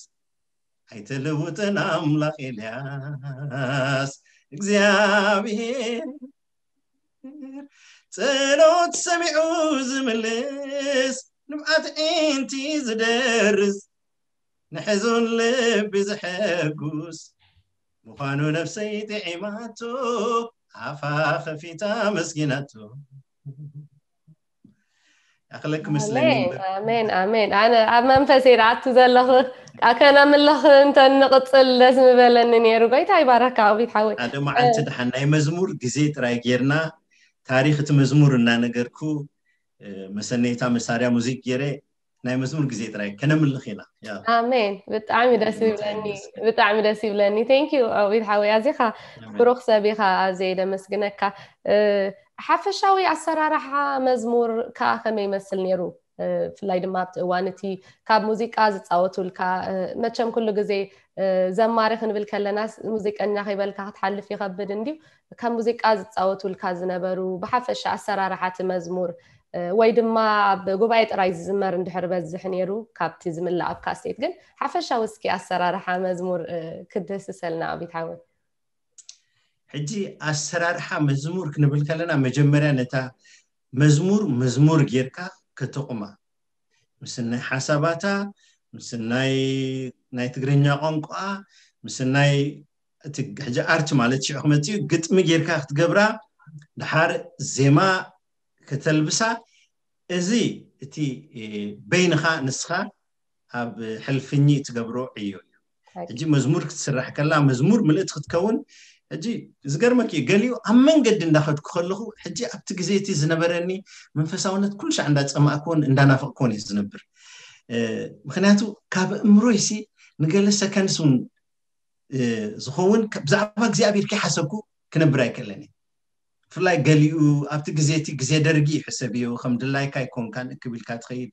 ኣይተለውጥን ኣምላኽ ኤልያስ። እግዚኣብሔር ጸሎት ሰሚዑ ዝምልስ፣ ንብዓት ዒንቲ ዝደርስ፣ ንሕዙን ልቢ ዘሐጉስ ምዃኑ ነፍሰይ ጥዒማቶ፣ ኣፋ ከፊታ መስጊናቶ። ኣኽለክ ምስለኒ ኣሜን ኣሜን ኣሜን። ኣነ ኣብ መንፈሰይ ደኣቱ ዘለኹ ኣከነምልኽ እንተ ንቕጽል ደስ ምበለኒ ነይሩ። ጎይታ ይባረካ ኣቢት ሓወይ። ሓደ መዓልቲ ደሓን ናይ መዝሙር ግዜ ጥራይ ጌርና፣ ታሪኽ እቲ መዝሙር እናነገርኩ፣ መሰነይታ መሳርያ ሙዚክ ጌረ፣ ናይ መዝሙር ግዜ ጥራይ ከነምልኽ ኢና። ኣሜን። ብጣዕሚ ደስ ይብለኒ። ብጣዕሚ ደስ ይብለኒ። Thank you ኣቢት ሓወይ፣ ኣዚኻ ብሩኽ ሰብ ኢኻ። ኣዜ ደመስግነካ። ሓፈሻዊ ኣሰራርሓ መዝሙር ከኣ ከመይ ይመስል ነይሩ? ብፍላይ ድማ ኣብቲ እዋን እቲ ካብ ሙዚቃ ዝጻወቱልካ፣ መቸም ኩሉ ግዜ ዘማሪ ክንብል ከለናስ ሙዚቀኛ ከይበልካ ክትሓልፍ ይኸብድ እንድዩ። ካብ ሙዚቃ ዝጻወቱልካ ዝነበሩ፣ ብሓፈሻ ኣሰራርሓ እቲ መዝሙር፣ ወይ ድማ ኣብ ጉባኤ ጥራይ ዝዝመር እንድሕር በዝሕ ነይሩ ካብቲ ዝምላእ ኣብ ካሴት፣ ግን ሓፈሻዊ እስኪ ኣሰራርሓ መዝሙር ክድህስሰልና ኣቢት ሓወይ። ሕጂ ኣሰራርሓ መዝሙር ክንብል ከለና መጀመርያ ነታ መዝሙር መዝሙር ጌርካ ከተቑማ፣ ምስ ናይ ሓሳባታ፣ ምስ ናይ ናይ ትግርኛ ቋንቋ፣ ምስ ናይ እቲ ሕጂ ኣርት ማለት ሽዑ ክመጽእ እዩ፣ ግጥሚ ጌርካ ክትገብራ፣ ድሓር ዜማ ከተልብሳ። እዚ እቲ በይንኻ ንስኻ ኣብ ሕልፍኝ ትገብሮ ዕዮ እዩ። ሕጂ መዝሙር ክትስራሕ ከላ መዝሙር ምልእቲ ክትከውን፣ ሕጂ ዝገርመኪ እዩ፣ ገሊኡ ኣብ መንገዲ እንዳኸድኩ ከለኹ፣ ሕጂ ኣብቲ ግዜ እቲ ዝነበረኒ መንፈሳውነት ኩሉ ሻዕ እንዳጸማእክዎን እንዳናፈቕክዎን እየ ዝነብር። ምክንያቱ ካብ እምሮይሲ ንገለ ሰከንስ እውን ዝኸውን ብዛዕባ እግዚኣብሔር ከይሓሰብኩ ክነብር ኣይክእለን እየ። ብፍላይ ገሊኡ ኣብቲ ግዜ እቲ ግዜ ደርጊ እዩ፣ ሕሰብዮ፣ ከም ድላይካ ኣይኮንካን እክብ ኢልካ ትኸይድ፣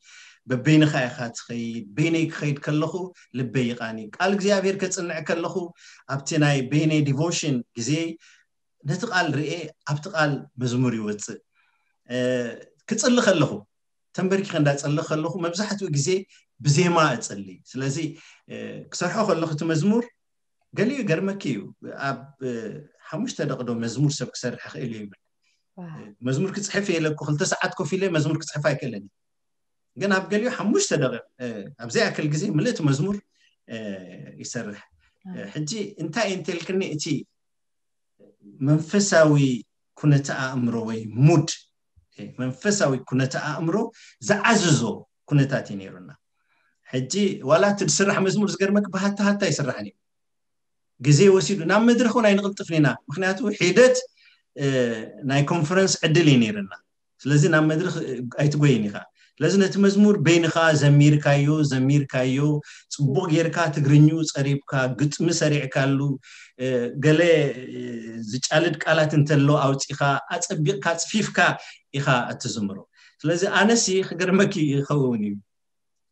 በበይንኻ ኢኻ ትኸይድ። በይነይ ክኸይድ ከለኹ ልበይ ይቓኒ። ቃል እግዚኣብሔር ከጽንዕ ከለኹ ኣብቲ ናይ በይነይ ዲቮሽን ግዜ ነቲ ቃል ርኤ ኣብቲ ቃል መዝሙር ይወጽእ። ክጽሊ ከለኹ ተንበርኪኸ እንዳጸለኹ ከለኹ መብዛሕትኡ ግዜ ብዜማ እጽሊ። ስለዚ ክሰርሖ ከለኹ እቲ መዝሙር ገሊኡ ይገርመኪ እዩ፣ ኣብ ሓሙሽተ ደቂ ዶ መዝሙር ሰብ ክሰርሕ ይኽእል እዩ ይብል። መዝሙር ክጽሕፍ እየ ኢለ እኮ ክልተ ሰዓት ኮፍ ኢለ መዝሙር ክጽሕፍ ኣይክእልን እየ። ግን ኣብ ገሊኡ ሓሙሽተ ደቂ ኣብ ዘይኣክል ግዜ ምልእቲ መዝሙር ይሰርሕ። ሕጂ እንታይ እንተልክኒ፣ እቲ መንፈሳዊ ኩነተ ኣእምሮ ወይ ሙድ፣ መንፈሳዊ ኩነተ ኣእምሮ ዝዓዝዞ ኩነታት እዩ ነይሩና። ሕጂ ዋላ እቲ ዝስራሕ መዝሙር ዝገርመክ ብሃታ ሃታ ይስራሕን እዩ። ግዜ ወሲዱ ናብ መድረክ እውን ኣይንቕልጥፍን ኢና። ምክንያቱ ሒደት ናይ ኮንፈረንስ ዕድል እዩ ነይርና። ስለዚ ናብ መድረክ ኣይትጎይን ኢኻ። ስለዚ ነቲ መዝሙር በይንኻ ዘሚርካዮ ዘሚርካዮ ጽቡቕ ጌርካ ትግርኙ ጸሪብካ ግጥሚ ሰሪዕካሉ፣ ገለ ዝጫልድ ቃላት እንተሎ ኣውጺኻ ኣጸቢቕካ ጽፊፍካ ኢኻ እትዝምሮ። ስለዚ ኣነሲ ክገርመኪ ይኸውን እዩ፣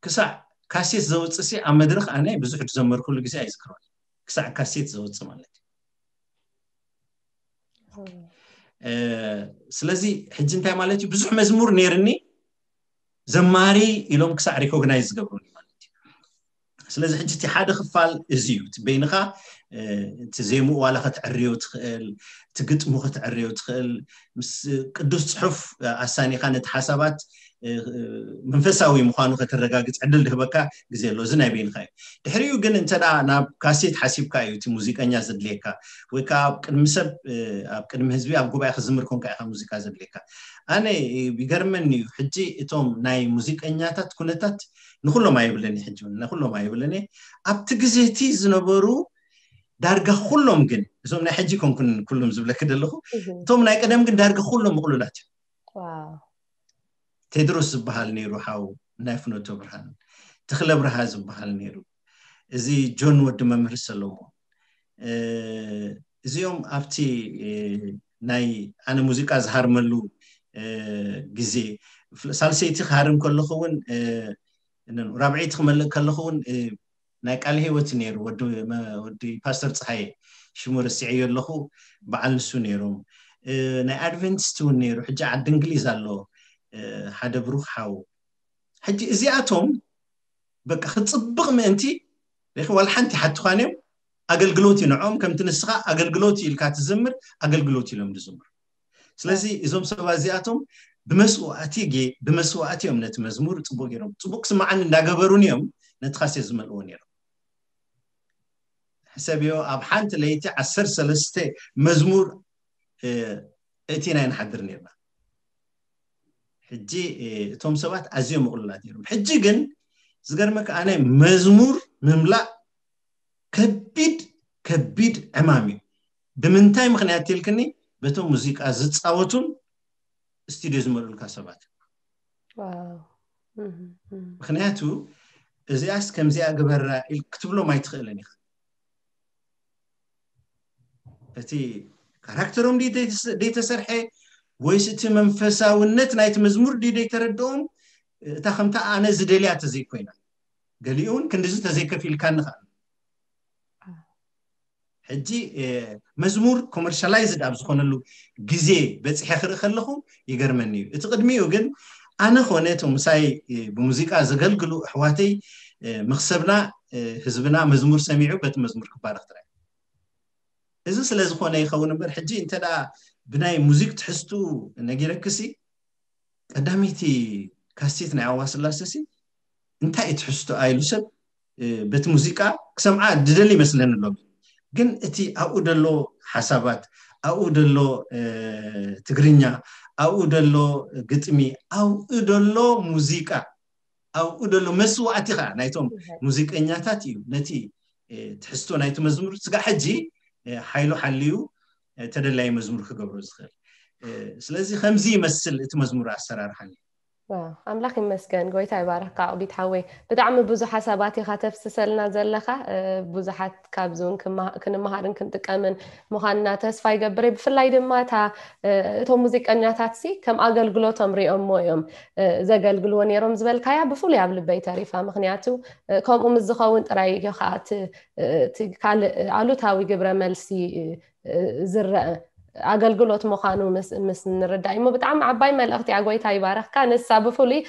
ክሳዕ ካሴት ዘውፅእ ሲ ኣብ መድረክ ኣነ ብዙሕ ዝዘመርኩሉ ግዜ ኣይዝክሮን። ክሳዕ ካሴት ዘውፅእ ማለት እዩ። ስለዚ ሕጂ እንታይ ማለት እዩ? ብዙሕ መዝሙር ነይርኒ፣ ዘማሪ ኢሎም ክሳዕ ሪኮግናይዝ ዝገብሩኒ ማለት እዩ። ስለዚ ሕጂ እቲ ሓደ ክፋል እዚ እዩ። እቲ በይንኻ እቲ ዜምኡ ዋላ ክትዕርዮ ትኽእል፣ እቲ ግጥሙ ክትዕርዮ ትኽእል፣ ምስ ቅዱስ ፅሑፍ ኣሳኒኻ ነቲ ሓሳባት መንፈሳዊ ምዃኑ ከተረጋግፅ ዕድል ድህበካ ግዜ ኣሎ። እዚ ናይ በይንኻ እዩ። ድሕሪኡ ግን እንተ ናብ ካሴት ሓሲብካ እዩ እቲ ሙዚቀኛ ዘድልየካ፣ ወይ ከዓ ኣብ ቅድሚ ሰብ ኣብ ቅድሚ ህዝቢ ኣብ ጉባኤ ክዝምር ኮንካ ኢኻ ሙዚቃ ዘድልየካ። ኣነ ይገርመኒ እዩ ሕጂ እቶም ናይ ሙዚቀኛታት ኩነታት ንኩሎም ኣይብልን፣ ሕጂ ንኩሎም ኣይብልን። ኣብቲ ግዜ እቲ ዝነበሩ ዳርጋ ኩሎም ግን፣ እዞም ናይ ሕጂ ኮንኩን ኩሎም ዝብለክ ዘለኹ፣ እቶም ናይ ቀደም ግን ዳርጋ ኩሎም ምቕሉላት እዮም። ቴድሮስ ዝበሃል ነይሩ ሓው ናይ ፍኖተ ብርሃን፣ ተኽለ ብርሃ ዝበሃል ነይሩ፣ እዚ ጆን ወዲ መምህር ሰሎሞን፣ እዚኦም ኣብቲ ናይ ኣነ ሙዚቃ ዝሃርመሉ ግዜ፣ ሳልሰይቲ ክሃርም ከለኹ እውን፣ ራብዐይቲ ክመልእ ከለኹ እውን ናይ ቃል ህይወት ነይሩ፣ ወዲ ፓስተር ፀሃየ፣ ሽሙ ረሲዐዮ ኣለኹ፣ በዓል ንሱ ነይሮም። ናይ ኣድቨንቲስት እውን ነይሩ። ሕጂ ዓዲ እንግሊዝ ኣሎ ሓደ ብሩክ ሓው። ሕጂ እዚኣቶም በቃ ክፅብቕ ምእንቲ ሪኺ ዋላ ሓንቲ ሓትኳን እዮም። ኣገልግሎት እዩ ንዕኦም፣ ከምቲ ንስኻ ኣገልግሎት እዩ ኢልካ ትዝምር፣ ኣገልግሎት ኢሎም ዝዝምሩ። ስለዚ እዞም ሰባት እዚኣቶም ብመስዋእቲ ጌ ብመስዋእቲ እዮም ነቲ መዝሙር ፅቡቅ ገይሮም፣ ፅቡቅ ክስማዓኒ እንዳገበሩን እዮም ነቲ ካሴት ዝመልእዎ ነይሮም። ሕሰብዮ፣ ኣብ ሓንቲ ለይቲ ዓሰርተ ሰለስተ መዝሙር እቲ ናይ ንሓድር ነርና። ሕጂ እቶም ሰባት ኣዝዮም ምቕሉላት ነይሮም። ሕጂ ግን ዝገርመካ ኣነ መዝሙር ምምላእ ከቢድ ከቢድ ዕማም እዩ። ብምንታይ ምክንያት ኢልክኒ? በቶም ሙዚቃ ዝፃወቱን ስቱዲዮ ዝመልኡልካ ሰባት። ምክንያቱ እዚኣስ ከምዚኣ ግበራ ክትብሎም ኣይትኽእልን ኢኻ። እቲ ካራክተሮም ደይተሰርሐ ወይስ እቲ መንፈሳውነት ናይቲ መዝሙር ደይተረድኦም፣ እታ ከምታ ኣነ ዝደልያ ተዘይኮይና፣ ገሊኡ እውን ክንድዚ ተዘይከፊልካኒ ከዓ። ሕጂ መዝሙር ኮመርሻላይዝድ ኣብ ዝኾነሉ ግዜ በፂሐ ክርኢ ከለኹ ይገርመኒ እዩ። እቲ ቅድሚኡ ግን ኣነ ኮነ እቶም ምሳይ ብሙዚቃ ዘገልግሉ ኣሕዋተይ፣ መክሰብና፣ ህዝብና መዝሙር ሰሚዑ በቲ መዝሙር ክባረክ ጥራይ። እዚ ስለ ዝኾነ ይኸውን እምበር፣ ሕጂ እንተ ብናይ ሙዚክ ትሕዝቱ ነጊረክሲ፣ ቀዳመይቲ ካሴት ናይ ኣዋ ስላሰሲ እንታይ እዩ ትሕዝቶኣ ኢሉ ሰብ በቲ ሙዚቃ ክሰምዓ ድደሊ ይመስለኒ ኣሎ። ግን እቲ ኣብኡ ደሎ ሓሳባት፣ ኣብኡ ደሎ ትግርኛ፣ ኣብኡ ደሎ ግጥሚ፣ ኣብኡ ደሎ ሙዚቃ፣ ኣብኡ ደሎ መስዋእቲ ከዓ ናይቶም ሙዚቀኛታት እዩ ነቲ ትሕዝቶ ናይቲ መዝሙር ስጋዕ ሕጂ ሓይሉ ሓልዩ ተደላዪ መዝሙር ክገብሮ ዝኽእል። ስለዚ ከምዚ ይመስል እቲ መዝሙር ኣሰራርሓ። ኣምላኽ ይመስገን፣ ጎይታ ይባርኽካ ኣቕቢት ሓወይ። ብጣዕሚ ብዙሕ ሓሳባት ኢኻ ተፍስሰልና ዘለኻ። ብዙሓት ካብዚ እውን ክንመሃርን ክንጥቀምን ምዃንና ተስፋ ይገብር። ብፍላይ ድማ እታ እቶም ሙዚቀኛታት ሲ ከም ኣገልግሎቶም ሪኦሞ እዮም ዘገልግልዎ ነይሮም ዝበልካያ ብፍሉይ ኣብ ልበይ ተሪፋ። ምክንያቱ ከምኡ ምስ ዝኸውን ጥራይ እዩ ከዓ እቲ ካልእ ኣሉታዊ ግብረ መልሲ ዝረአ ኣገልግሎት ምዃኑ ምስ ንርዳእ እሞ ብጣዕሚ ዓባይ መልእኽቲ እያ። ጎይታ ይባረኽካ። ንሳ ብፍሉይ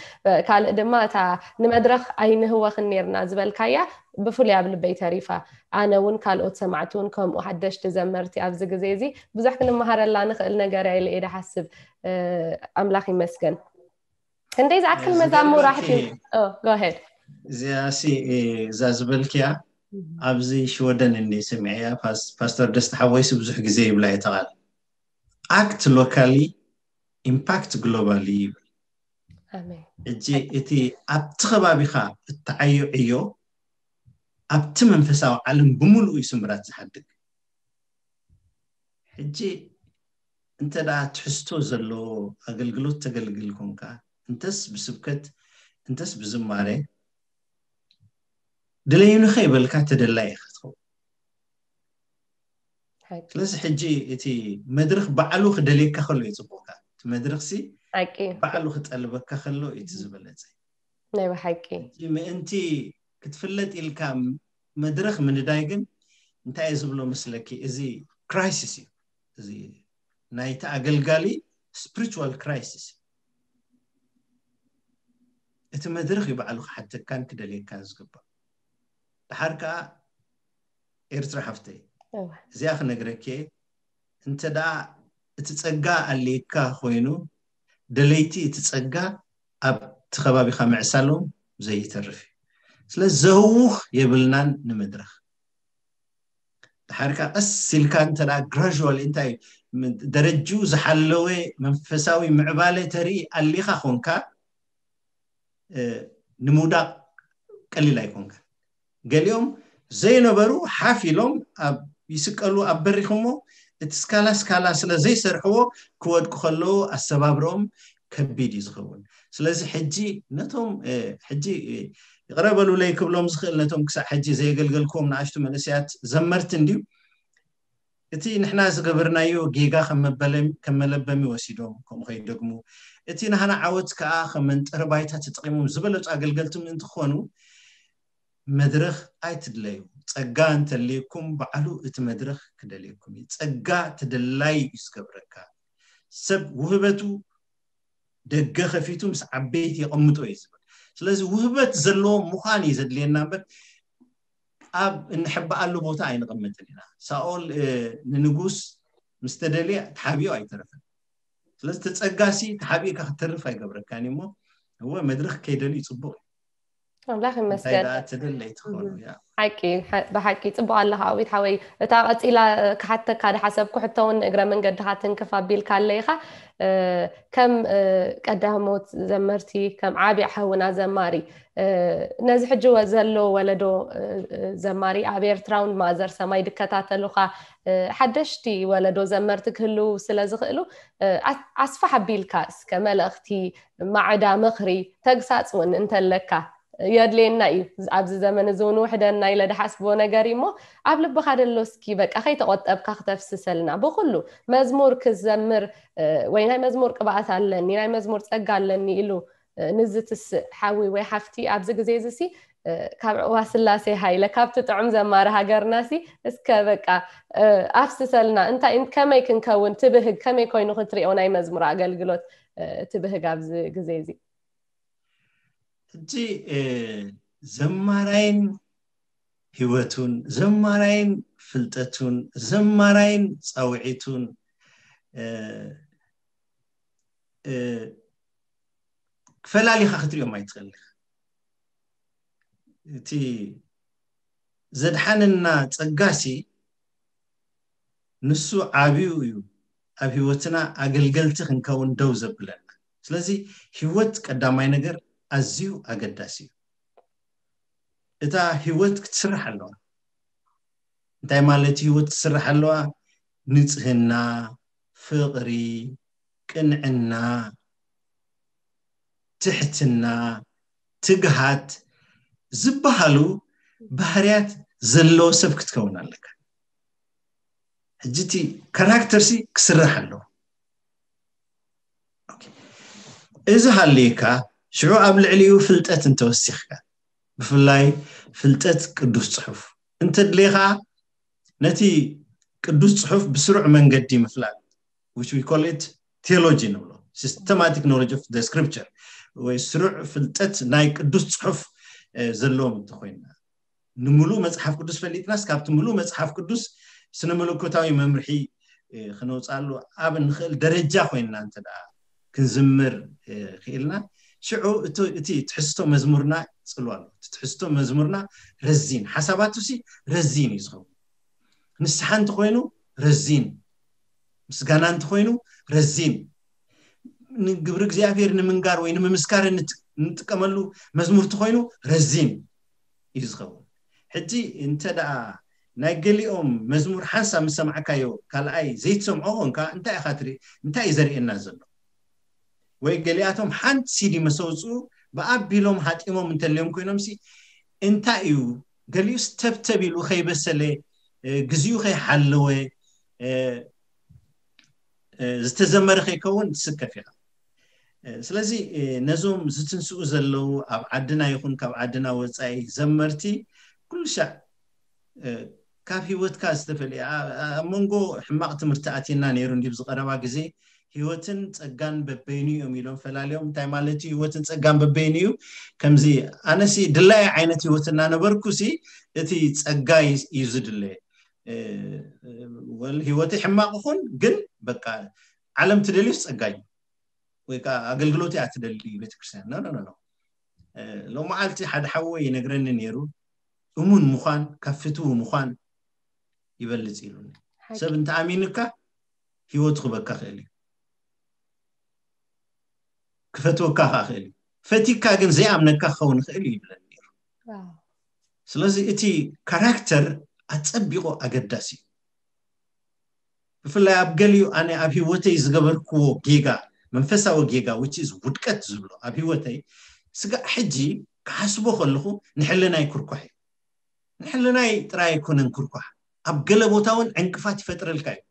ካልእ ድማ እታ ንመድረኽ ኣይንህወኽን ነርና ዝበልካያ ብፍሉይ ኣብ ልበይ ተሪፋ። ኣነ እውን ካልኦት ሰማዕቲ እውን ከምኡ ሓደሽቲ ዘመርቲ ኣብዚ ግዜ እዚ ብዙሕ ክንመሃረላ ንኽእል ነገር እያ ኢለ እየ ድሓስብ። ኣምላኽ ይመስገን። ክንደይ ዝኣክል መዛሙር ኣሕቲም? ጎሄድ እዚኣ ሲ እዛ ዝበልክያ ኣብዚ ሽወደን እንደ ሰሚዐያ ፓስ- ፓስተር ደስታ ሓወይስ ብዙሕ ግዜ ይብላ እየ ተቓል act locally, impact globally ይብል። ኣሜን። ሕጂ እቲ ኣብቲ ከባቢኻ እትዓዮ ዕዮ ኣብቲ መንፈሳዊ ዓለም ብምሉኡ እዩ ስምራት ዝሓድግ። ሕጂ እንተ ደኣ ትሕዝቶ ዘለዎ ኣገልግሎት ተገልግል ኮንካ፣ እንተስ ብስብከት እንተስ ብዝማሬ ድለዩኒ ከይበልካ ተደላይ ኢኻ ትኸውን። ሓቂ ስለዚ ሕጂ እቲ መድረኽ ባዕሉ ክደልየካ ከሎ እዩ ጽቡቕካ። እቲ መድረኽሲ ሓቂ ባዕሉ ክጠልበካ ከሎ እቲ ዝበለጸ። ናይ ብሓቂ ሕጂ ምእንቲ ክትፍለጥ ኢልካ መድረኽ ምንዳይ ግን እንታይ እዩ ዝብሎ መስለኪ? እዚ ክራይሲስ እዩ። እዚ ናይቲ ኣገልጋሊ ስፒሪቹዋል ክራይሲስ። እቲ መድረኽ እዩ ባዕሉ ክሓተካን ክደልየካን ዝግባእ። ድሓር ከኣ ኤርትራ ሓፍተይ እወ። እዚኣ ክነግረኪ እየ። እንተ ደኣ እቲ ጸጋ ኣልየካ ኮይኑ ደለይቲ እቲ ጸጋ ኣብቲ ከባቢኻ ምዕሳሎም ዘይተርፍ እዩ። ስለዚ ዘህውኽ የብልናን ንመድረኽ። ድሓር ከኣ ቀስ ኢልካ እንተ ደኣ ግራጁዋል እንታይ ም- ደረጅኡ ዝሓለወ መንፈሳዊ ምዕባለ ተርኢ ኣሊኻ ኮንካ እ፣ ንምውዳቕ ቀሊል ኣይኮንካ። ገሊኦም ዘይነበሩ ሓፍ ኢሎም ኣብ ይስቀሉ ኣብ በሪኽ እሞ እቲ ስካላ ስካላ ስለ ዘይሰርሕዎ ክወድቁ ከለዉ ኣሰባብርኦም ከቢድ እዩ ዝኸውን። ስለዚ ሕጂ ነቶም እ፣ ሕጂ እ፣ ይቕረ በሉለይ ክብሎም ዝኽእል ነቶም ክሳዕ ሕጂ ዘየገልገልክዎም ንኣሽቱ መንእሰያት ዘመርቲ እንድዩ እቲ ንሕና ዝገበርናዮ ጌጋ ከም መበለም ከም መለበሚ ወሲዶም ከምኡ ከይደግሙ እቲ ናህና ዓወት ከዓ ከም መንጠሪ ባይታ ተጠቂሞም ዝበለጹ ኣገልገልቲ ምእንቲ ክኾኑ መድረኽ ኣይትድለዩ። ጸጋ እንተልየኩም ባዕሉ እቲ መድረኽ ክደልየኩም እዩ። ጸጋ ተደላይ እዩ ዝገብረካ። ሰብ ውህበቱ ደገ ከፊቱ ምስ ዓበይቲ የቐምጦ እዩ ዝብል። ስለዚ ውህበት ዘለዎ ምዃን እዩ ዘድልየና እምበር ኣብ እንሕበኣሉ ቦታ ኣይንቐምጥን ኢና። ሳኦል እ፣ ንንጉስ ምስ ተደልየ ተሓቢኡ ኣይተረፈን። ስለዚ ተጸጋሲ ተሓቢእካ ክትተርፍ ኣይገብረካን እዩ እሞ እወ መድረኽ ከይደልዩ ጽቡቕ እዩ። ኣምላኽ እንታይ ይመስገን። ደኣ ተደለይ ትኾኑ ያ ሓቂ ሓ- ብሓቂ ጽቡቕ ኣለኻ ኣዊት ሓወይ። እታ ቀጺላ እ፣ ክሓተካ ዝሓሰብኩ ሕቶ እውን እግረ መንገድኻ ትንክፍ ኣቢልካ ኣለይኻ እ፣ ከም እ፣ ቀዳሞት ዘመርቲ ከም ዓቢ ሓውና ዘማሪ እ፣ ነዚ ሕጂ ወ- ዘሎ ወለዶ እ፣ እ፣ ዘማሪ ኣብ ኤርትራውን ማዘር ሰማይ ድከታተሉኻ እ፣ ሓደሽቲ ወለዶ ዘመርቲ ክህልው ስለ ዝኽእሉ እ፣ ኣ- ኣስፋሕ ኣቢልካ እስከ መልእኽቲ ማዕዳ ምኽሪ ተግሳጽ እውን እንተለካ የድልየና እዩ። ኣብዚ ዘመን እዚ እውን ውሕደና ኢለ ድሓስቦ ነገር እዩ እሞ ኣብ ልብኻ ደሎ እስኪ በቃ ከይተቆጠብካ ክተፍስሰልና ብኩሉ መዝሙር ክዘምር እ፣ ወይ ናይ መዝሙር ቅብኣት ኣለኒ ናይ መዝሙር ጸጋ ኣለኒ ኢሉ እ፣ ንዝትስእ ሓዊ ወይ ሓፍቲ ኣብዚ ግዜ እዚ ሲ እ፣ ካብ ዕዋ ስላሴ ሃይለ ካብቲ ጥዑም ዘማሪ ሃገርና ሲ እስከ በቃ እ፣ ኣፍስሰልና እንታይ እን- ከመይ ክንከውን ትብህግ ከመይ ኮይኑ ክትሪኦ ናይ መዝሙር ኣገልግሎት እ፣ ትብህግ ኣብዚ ግዜ እዚ ሕጂ እ፣ ዘማራይን ህይወቱን ዘማራይን ፍልጠቱን ዘማራይን ጻውዒቱን እ፣ እ፣ ክፈላሊኻ ክትሪኦም ኣይትኽእል ኢኻ። እቲ ዘድሓነና ጸጋሲ ንሱ ዓብዩ እዩ ኣብ ህይወትና ኣገልገልቲ ክንከውን ደው ዘብለና። ስለዚ ህይወት ቀዳማይ ነገር ኣዝዩ ኣገዳሲ እዩ። እታ ህይወት ክትስራሕ ኣለዋ። እንታይ ማለት ህይወት ክትስራሕ ኣለዋ? ንጽህና፣ ፍቕሪ፣ ቅንዕና፣ ትሕትና፣ ትግሃት ዝበሃሉ ባህርያት ዘለዎ ሰብ ክትከውን ኣለካ። ሕጂ እቲ ካራክተርሲ ክስራሕ ኣለዎ። ኦኬ። እዚ ሃልዩካ ሽዑ ኣብ ልዕሊኡ ፍልጠት እንተወሲኽካ ብፍላይ ፍልጠት ቅዱስ ጽሑፍ እንተድልየ ከዓ ነቲ ቅዱስ ጽሑፍ ብስሩዕ መንገዲ ምፍላጥ which we call it theology ንብሎ systematic knowledge of the scripture ወይ ስሩዕ ፍልጠት ናይ ቅዱስ ጽሑፍ ዘለዎም እንተኮይንና ንምሉእ መፅሓፍ ቅዱስ ፈሊጥናስ ካብቲ ምሉእ መፅሓፍ ቅዱስ ስነ መለኮታዊ መምርሒ ክነውፅኣሉ ኣብ እንኽእል ደረጃ ኮይንና እንተ ደኣ ክንዝምር ክኢልና ሽዑ እቲ ትሕዝቶ መዝሙርና ጽልዋ ኣሎ። እቲ ትሕዝቶ መዝሙርና ረዚን፣ ሓሳባቱ ሲ ረዚን እዩ ዝኸውን። ንስሓ እንተኾይኑ ረዚን፣ ምስጋና እንተኾይኑ ረዚን፣ ንግብሪ እግዚኣብሔር ንምንጋር ወይ ንምምስካር እንጥቀመሉ መዝሙር እንተኾይኑ ረዚን እዩ ዝኸውን። ሕጂ እንተ ደኣ ናይ ገሊኦም መዝሙር ሓንሳብ ምስ ሰማዕካዮ ካልኣይ ዘይትሰምዖ ኾንካ እንታይ ኢኻ ትርኢ? እንታይ እዩ ዘርእየና ዘሎ? ወይ ገሊኣቶም ሓንቲ ሲዲ መሰውፅኡ ብኣቢሎም ሃጢሞም እንተልዮም ኮይኖም ሲ እንታይ እዩ? ገሊኡስ ተብተብ ኢሉ ከይበሰለ፣ ግዜኡ ከይሓለወ ዝተዘመረ ከይከውን ትስከፍ ኢኻ። ስለዚ ነዞም ዝትንስኡ ዘለዉ ኣብ ዓድና ይኹን ካብ ዓድና ወፃኢ ዘመርቲ ኩሉ ሻዕ ካብ ህይወትካ ዝተፈልየ ኣብ መንጎ ሕማቕ ትምህርቲ ኣትየና ነይሩ እንዲብ ዝቐረባ ግዜ ህይወትን ጸጋን በበይኑ እዮም ኢሎም ፈላልዮም። እንታይ ማለት እዩ? ህይወትን ጸጋን በበይኑ እዩ። ከምዚ ኣነሲ ድላይ ዓይነት ህይወት እናነበርኩ ሲ እቲ ጸጋ እዩ ዝድለ። ወል ህይወት ሕማቕ ይኹን ግን በቃ ዓለም ትደልዩስ ጸጋ እዩ ወይ ከዓ ኣገልግሎት እያ ትደሊ ቤተክርስትያን። ኖ ኖ ኖ። ሎመዓልቲ ሓደ ሓወይ ይነግረኒ ነይሩ፣ እሙን ምዃን ካብ ፍትዊ ምዃን ይበልፅ ኢሉኒ። ሰብ እንተኣሚኑካ ህይወቱ ክበካ ክእል እዩ፣ ክፈትወካ ከዓ ክእል እዩ። ፈቲካ ግን ዘይኣምነካ ክኸውን ይኽእል እዩ ይብለኒ ነይሩ። ስለዚ እቲ ካራክተር ኣፀቢቑ ኣገዳሲ እዩ። ብፍላይ ኣብ ገሊኡ ኣነ ኣብ ህይወተይ ዝገበርክዎ ጌጋ፣ መንፈሳዊ ጌጋ which is ውድቀት ዝብሎ ኣብ ህይወተይ ስጋዕ ሕጂ ክሓስቦ ከለኹ ንሕልናይ ክርኳሕ እዩ። ንሕልናይ ጥራይ ኣይኮነን ክርኳሕ፣ ኣብ ገለ ቦታ እውን ዕንቅፋት ይፈጥረልካ እዩ።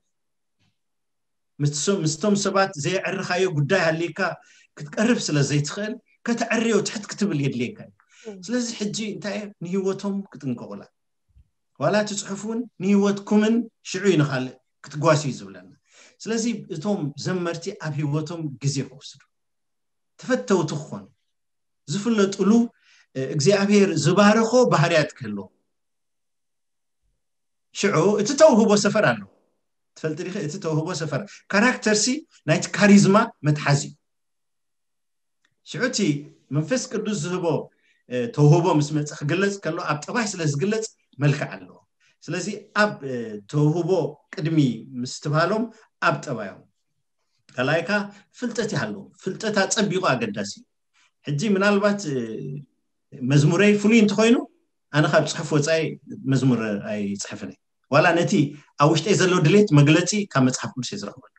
ምስቶም ምስቶም ሰባት ዘየዕርኻዮ ጉዳይ ሃልይካ ክትቀርብ ስለ ዘይትኽእል ከተዕርዮ ትሕት ክትብል የድልየካ እዩ። ስለዚ ሕጂ እንታይ ንህይወቶም ክጥንቀቑላ ዋላ እቲ ፅሑፍ እውን ንህይወትኩምን ሽዑ እዩ ንኻልእ ክትጓስዩ ዝብለና። ስለዚ እቶም ዘመርቲ ኣብ ህይወቶም ግዜ ክወስዱ ተፈተውቲ ክኾኑ ዝፍለጥሉ እግዚኣብሔር ዝባረኾ ባህርያት ክህልዎ ሽዑ እቲ ተውህቦ ሰፈር ኣሎ። ትፈልጥ ዲኺ? እቲ ተውህቦ ሰፈር ካራክተር ሲ ናይቲ ካሪዝማ መትሓዚ እዩ። ሽዑ እቲ መንፈስ ቅዱስ ዝህቦ ተውህቦ ምስ መፀ ክግለፅ ከሎ ኣብ ጠባይ ስለ ዝግለፅ መልክዕ ኣለዎ። ስለዚ ኣብ ተውህቦ ቅድሚ ምስትብሃሎም ኣብ ጠባዮም ካልኣይካ ፍልጠት ይሃለዎም። ፍልጠት ኣፀቢቑ ኣገዳሲ እዩ። ሕጂ ምናልባት መዝሙረይ ፍሉይ እንተኾይኑ ኣነ ካብ ፅሑፍ ወፃኢ መዝሙር ኣይፅሕፍን እየ። ዋላ ነቲ ኣብ ውሽጠይ ዘሎ ድሌት መግለፂ ካብ መፅሓፍ ቅዱስ እየ ዝረኽበሉ።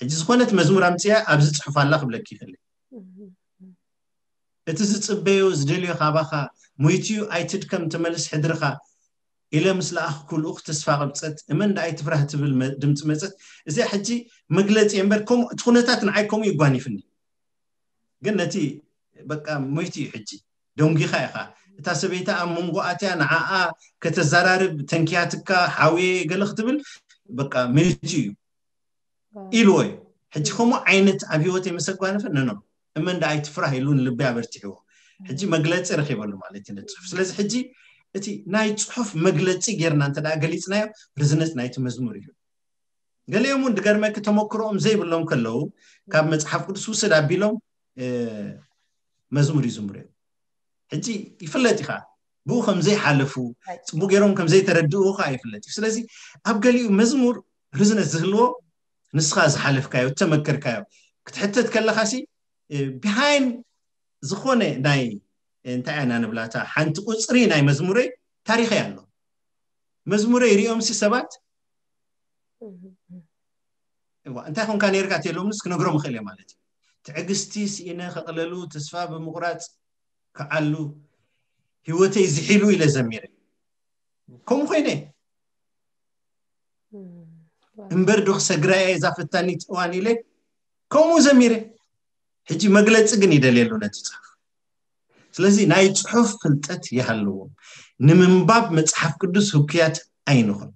ሕጂ ዝኾነት መዝሙር ኣምፅያ ኣብዚ ፅሑፍ ኣላ ክብለኪ ይኽእል። እቲ ዝፅበዮ ዝደልዮ ካባኻ ሞይትዩ ኣይትድከም ተመልስ ሕድርኻ ኢለ ምስ ለኣኽኩ ልኡኽ ተስፋ ቅብፀት እመን ደኣ ኣይትፍራህ ትብል ድምፂ መፀት። እዚኣ ሕጂ መግለፂ እምበር ከምኡ እቲ ኩነታት ንዓይ ከምኡ ይጓኒፍኒ። ግን ነቲ በቃ ሞይቱ እዩ ሕጂ ደንጒኻ ኢኻ። እታ ሰበይቲ ኣብ መንጎ ኣትያ ንዓኣ ከተዘራርብ ተንኪያትካ ሓውየ ገለ ክትብል በቃ ሞይቱ እዩ ኢልዎ እዩ። ሕጂ ከምኡ ዓይነት ኣብ ህይወት የመሰጓንፈ ነኖ እመን ደኣ ኣይትፍራህ ኢሉ ንልቢ ኣበርቲሕዎ። ሕጂ መግለፂ ረኺበሉ ማለት እዩ ነቲ ፅሑፍ። ስለዚ ሕጂ እቲ ናይ ፅሑፍ መግለፂ ጌርና እንተ ደኣ ገሊፅናዮ ርዝነት ናይቲ መዝሙር እዩ። ገሊኦም እውን ድገርመኪ ተመክሮኦም ዘይብሎም ከለዉ ካብ መፅሓፍ ቅዱስ ውሰድ ኣቢሎም መዝሙር ይዝምሩ እዮም። ሕጂ ይፍለጥ ኢኻ ብኡ ከም ዘይሓለፉ ፅቡቅ ገይሮም ከም ዘይተረድኡ ከዓ ይፍለጥ እዩ። ስለዚ ኣብ ገሊኡ መዝሙር ርዝነት ዝህልዎ ንስኻ ዝሓለፍካዮ እተመከርካዮ ክትሕተት ከለኻ ሲ ቢሃይን ዝኾነ ናይ እንታይ ኢና ንብላታ ሓንቲ ቁፅሪ ናይ መዝሙረይ ታሪኸይ ኣሎ። መዝሙረይ ሪኦም ሲ ሰባት እዋ እንታይ ኮንካ ነርካ ተሎምስ ክነግሮም ይኽእል እየ ማለት እዩ። ትዕግስቲ ስኢነ ከቕለሉ ተስፋ ብምቑራፅ ክዓሉ ህይወተይ ዝሒሉ ኢለ ዘሚረ ከምኡ ኮይነ እምበር ዶ ክሰግራ እየ እዛ ፈታኒት እዋን ኢለ ከምኡ ዘሚረ። ሕጂ መግለፂ ግን ይደልየሉ ነቲ ፅሑፍ። ስለዚ ናይ ፅሑፍ ፍልጠት ይሃልዎም። ንምንባብ መፅሓፍ ቅዱስ ህኩያት ኣይንኹን።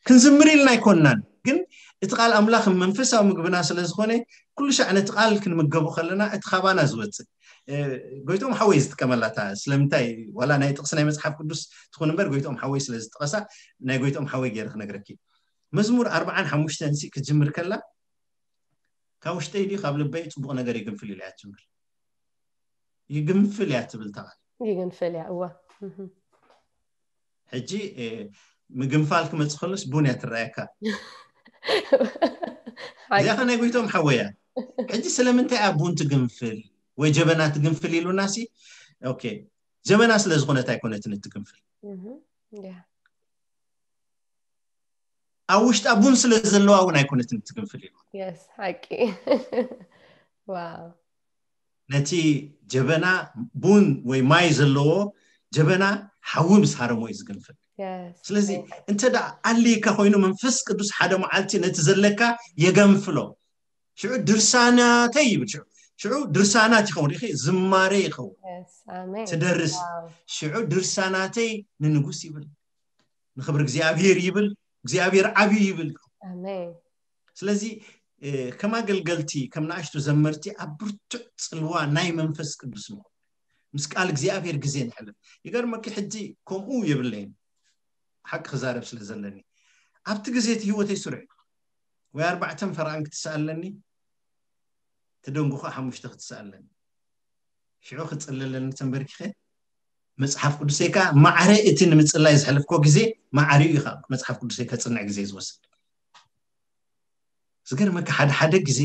ክንዝምር ኢልና ኣይኮንናን፣ ግን እቲ ቃል ኣምላኽ መንፈሳዊ ምግብና ስለ ዝኾነ ኩሉ ሻዕ ነቲ ቃል ክንምገቡ ከለና እቲ ካባና ዝወፅእ ጎይቶም ሓወይ ዝጥቀመላታ ስለምንታይ ዋላ ናይ ጥቕሲ ናይ መፅሓፍ ቅዱስ ትኹን እምበር ጎይቶም ሓወይ ስለ ዝጠቐሳ ናይ ጎይቶም ሓወይ ገይረ ክነግረኪ። መዝሙር ኣርባዓን ሓሙሽተን ሲ ክጅምር ከላ ካብ ውሽጠይ ድዩ ካብ ልበይ ፅቡቕ ነገር ይግንፍል ኢለ እያ ትጅምር። ይግንፍል እያ ትብል ተቓል። ይግንፍል እያ፣ እወ። እህ። ሕጂ እ፣ ምግንፋል ክመጽእ ከሎስ ቡን እያ ትረኣየካ። ሓቂ። እዚኣ ከ ናይ ጎይቶም ሓወያ። ሕጂ ስለምንታይ እያ ቡን ትግንፍል ወይ ጀበና ትግንፍል ኢሉና ሲ፣ ኦኬ፣ ጀበና ስለ ዝኾነት ኣይኮነትን እትግንፍል። እህ። ያ። ኣብ ውሽጣ ቡን ስለ ዘለዋ እውን ኣይኮነትን እትግንፍል ኢሉ። የስ፣ ሓቂ። ዋው። ነቲ ጀበና ቡን ወይ ማይ ዘለዎ ጀበና ሓዊ ምስ ሃረሞ እዩ ዝግንፍል። የስ። ስለዚ እንተ ደኣ ኣልካ ኮይኑ መንፈስ ቅዱስ ሓደ መዓልቲ ነቲ ዘለካ የገንፍሎ። ሽዑ ድርሳናተይ ይብል። ሽዑ ሽዑ ድርሳናት ይኸውን፣ ሪኺ ዝማሬ ይኸውን። የስ፣ ኣሜን። ትደርስ። ዋው። ሽዑ ድርሳናተይ ንንጉስ ይብል፣ ንኽብሪ እግዚኣብሔር ይብል፣ እግዚኣብሔር ዓብዩ ይብል። ኣሜን። ስለዚ እ፣ ከም ኣገልገልቲ ከም ንኣሽቱ ዘመርቲ ኣብ ብርቱዕ ጽልዋ ናይ መንፈስ ቅዱስ ንኹን፣ ምስ ቃል እግዚኣብሔር ግዜ ንሕልፍ። ይገርመኪ፣ ሕጂ ከምኡ የብለይን፣ ሓቂ ክዛረብ ስለ ዘለኒ። ኣብቲ ግዜ እቲ ህይወተይ ስሩዕ እዩ። ወይ ኣርባዕተን ፈርቓን ክትስኣለኒ፣ ትደንጉ ከዓ ሓሙሽተ ክትስኣለኒ። ሽዑ ክጽለለኒ ተንበርኪኸ መጽሓፍ ቅዱሰይ ከዓ ማዕረ እቲ ንምጽላይ ዘሕለፍኮ ግዜ ማዕሪኡ እዩ። ካብ መጽሓፍ ቅዱሰይ ከጽንዕ ግዜ ዝወስድ። ዝገርመካ፣ ሓደ ሓደ ግዜ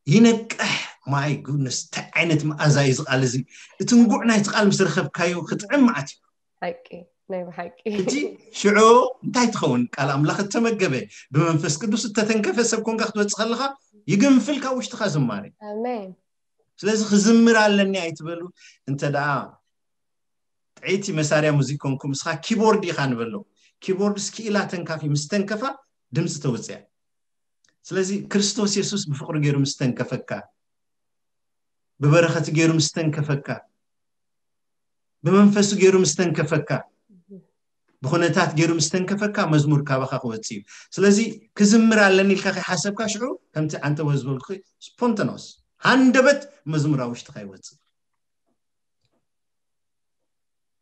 ይነቅሕ። ማይ ጉድነስ፣ እንታይ ዓይነት መኣዛ እዩ እዚ ቃል እዚ? እቲ እንጉዕ ናይቲ ቃል ምስ ረኸብካዮ ክጥዕም መዓት እዩ። ሓቂ፣ ናይ ብሓቂ። ሕጂ ሽዑ እንታይ ትኸውን? ቃል ኣምላኽ እተመገበ፣ ብመንፈስ ቅዱስ እተተንከፈ ሰብ ኮንካ ክትወጽእ ከለኻ ይግንፍል ካብ ውሽጥኻ ዝማሬ። ኣሜን። ስለዚ ክዝምር ኣለኒ ኣይትበሉ። እንተ ደኣ ጥዕይቲ መሳርያ ሙዚክ ኮንኩም፣ እስኻ ኪቦርድ ኢኻ ንበሎ። ኪቦርድስ ክኢላ ተንካፊ ምስ ተንከፋ ድምፂ ተውፅያ። ስለዚ ክርስቶስ የሱስ ብፍቕሪ ገይሩ ምስ ተንከፈካ፣ ብበረኸት ገይሩ ምስ ተንከፈካ፣ ብመንፈሱ ገይሩ ምስ ተንከፈካ፣ ብኹነታት ገይሩ ምስ ተንከፈካ መዝሙር ካባኻ ክወፅእ እዩ። ስለዚ ክዝምር ኣለኒ ኢልካ ከይሓሰብካ ሽዑ ከምቲ ዓንተቦ ዝበልኩ ስፖንተኖስ ሃንደበት መዝሙር ኣብ ውሽጥኻ ይወፅእ።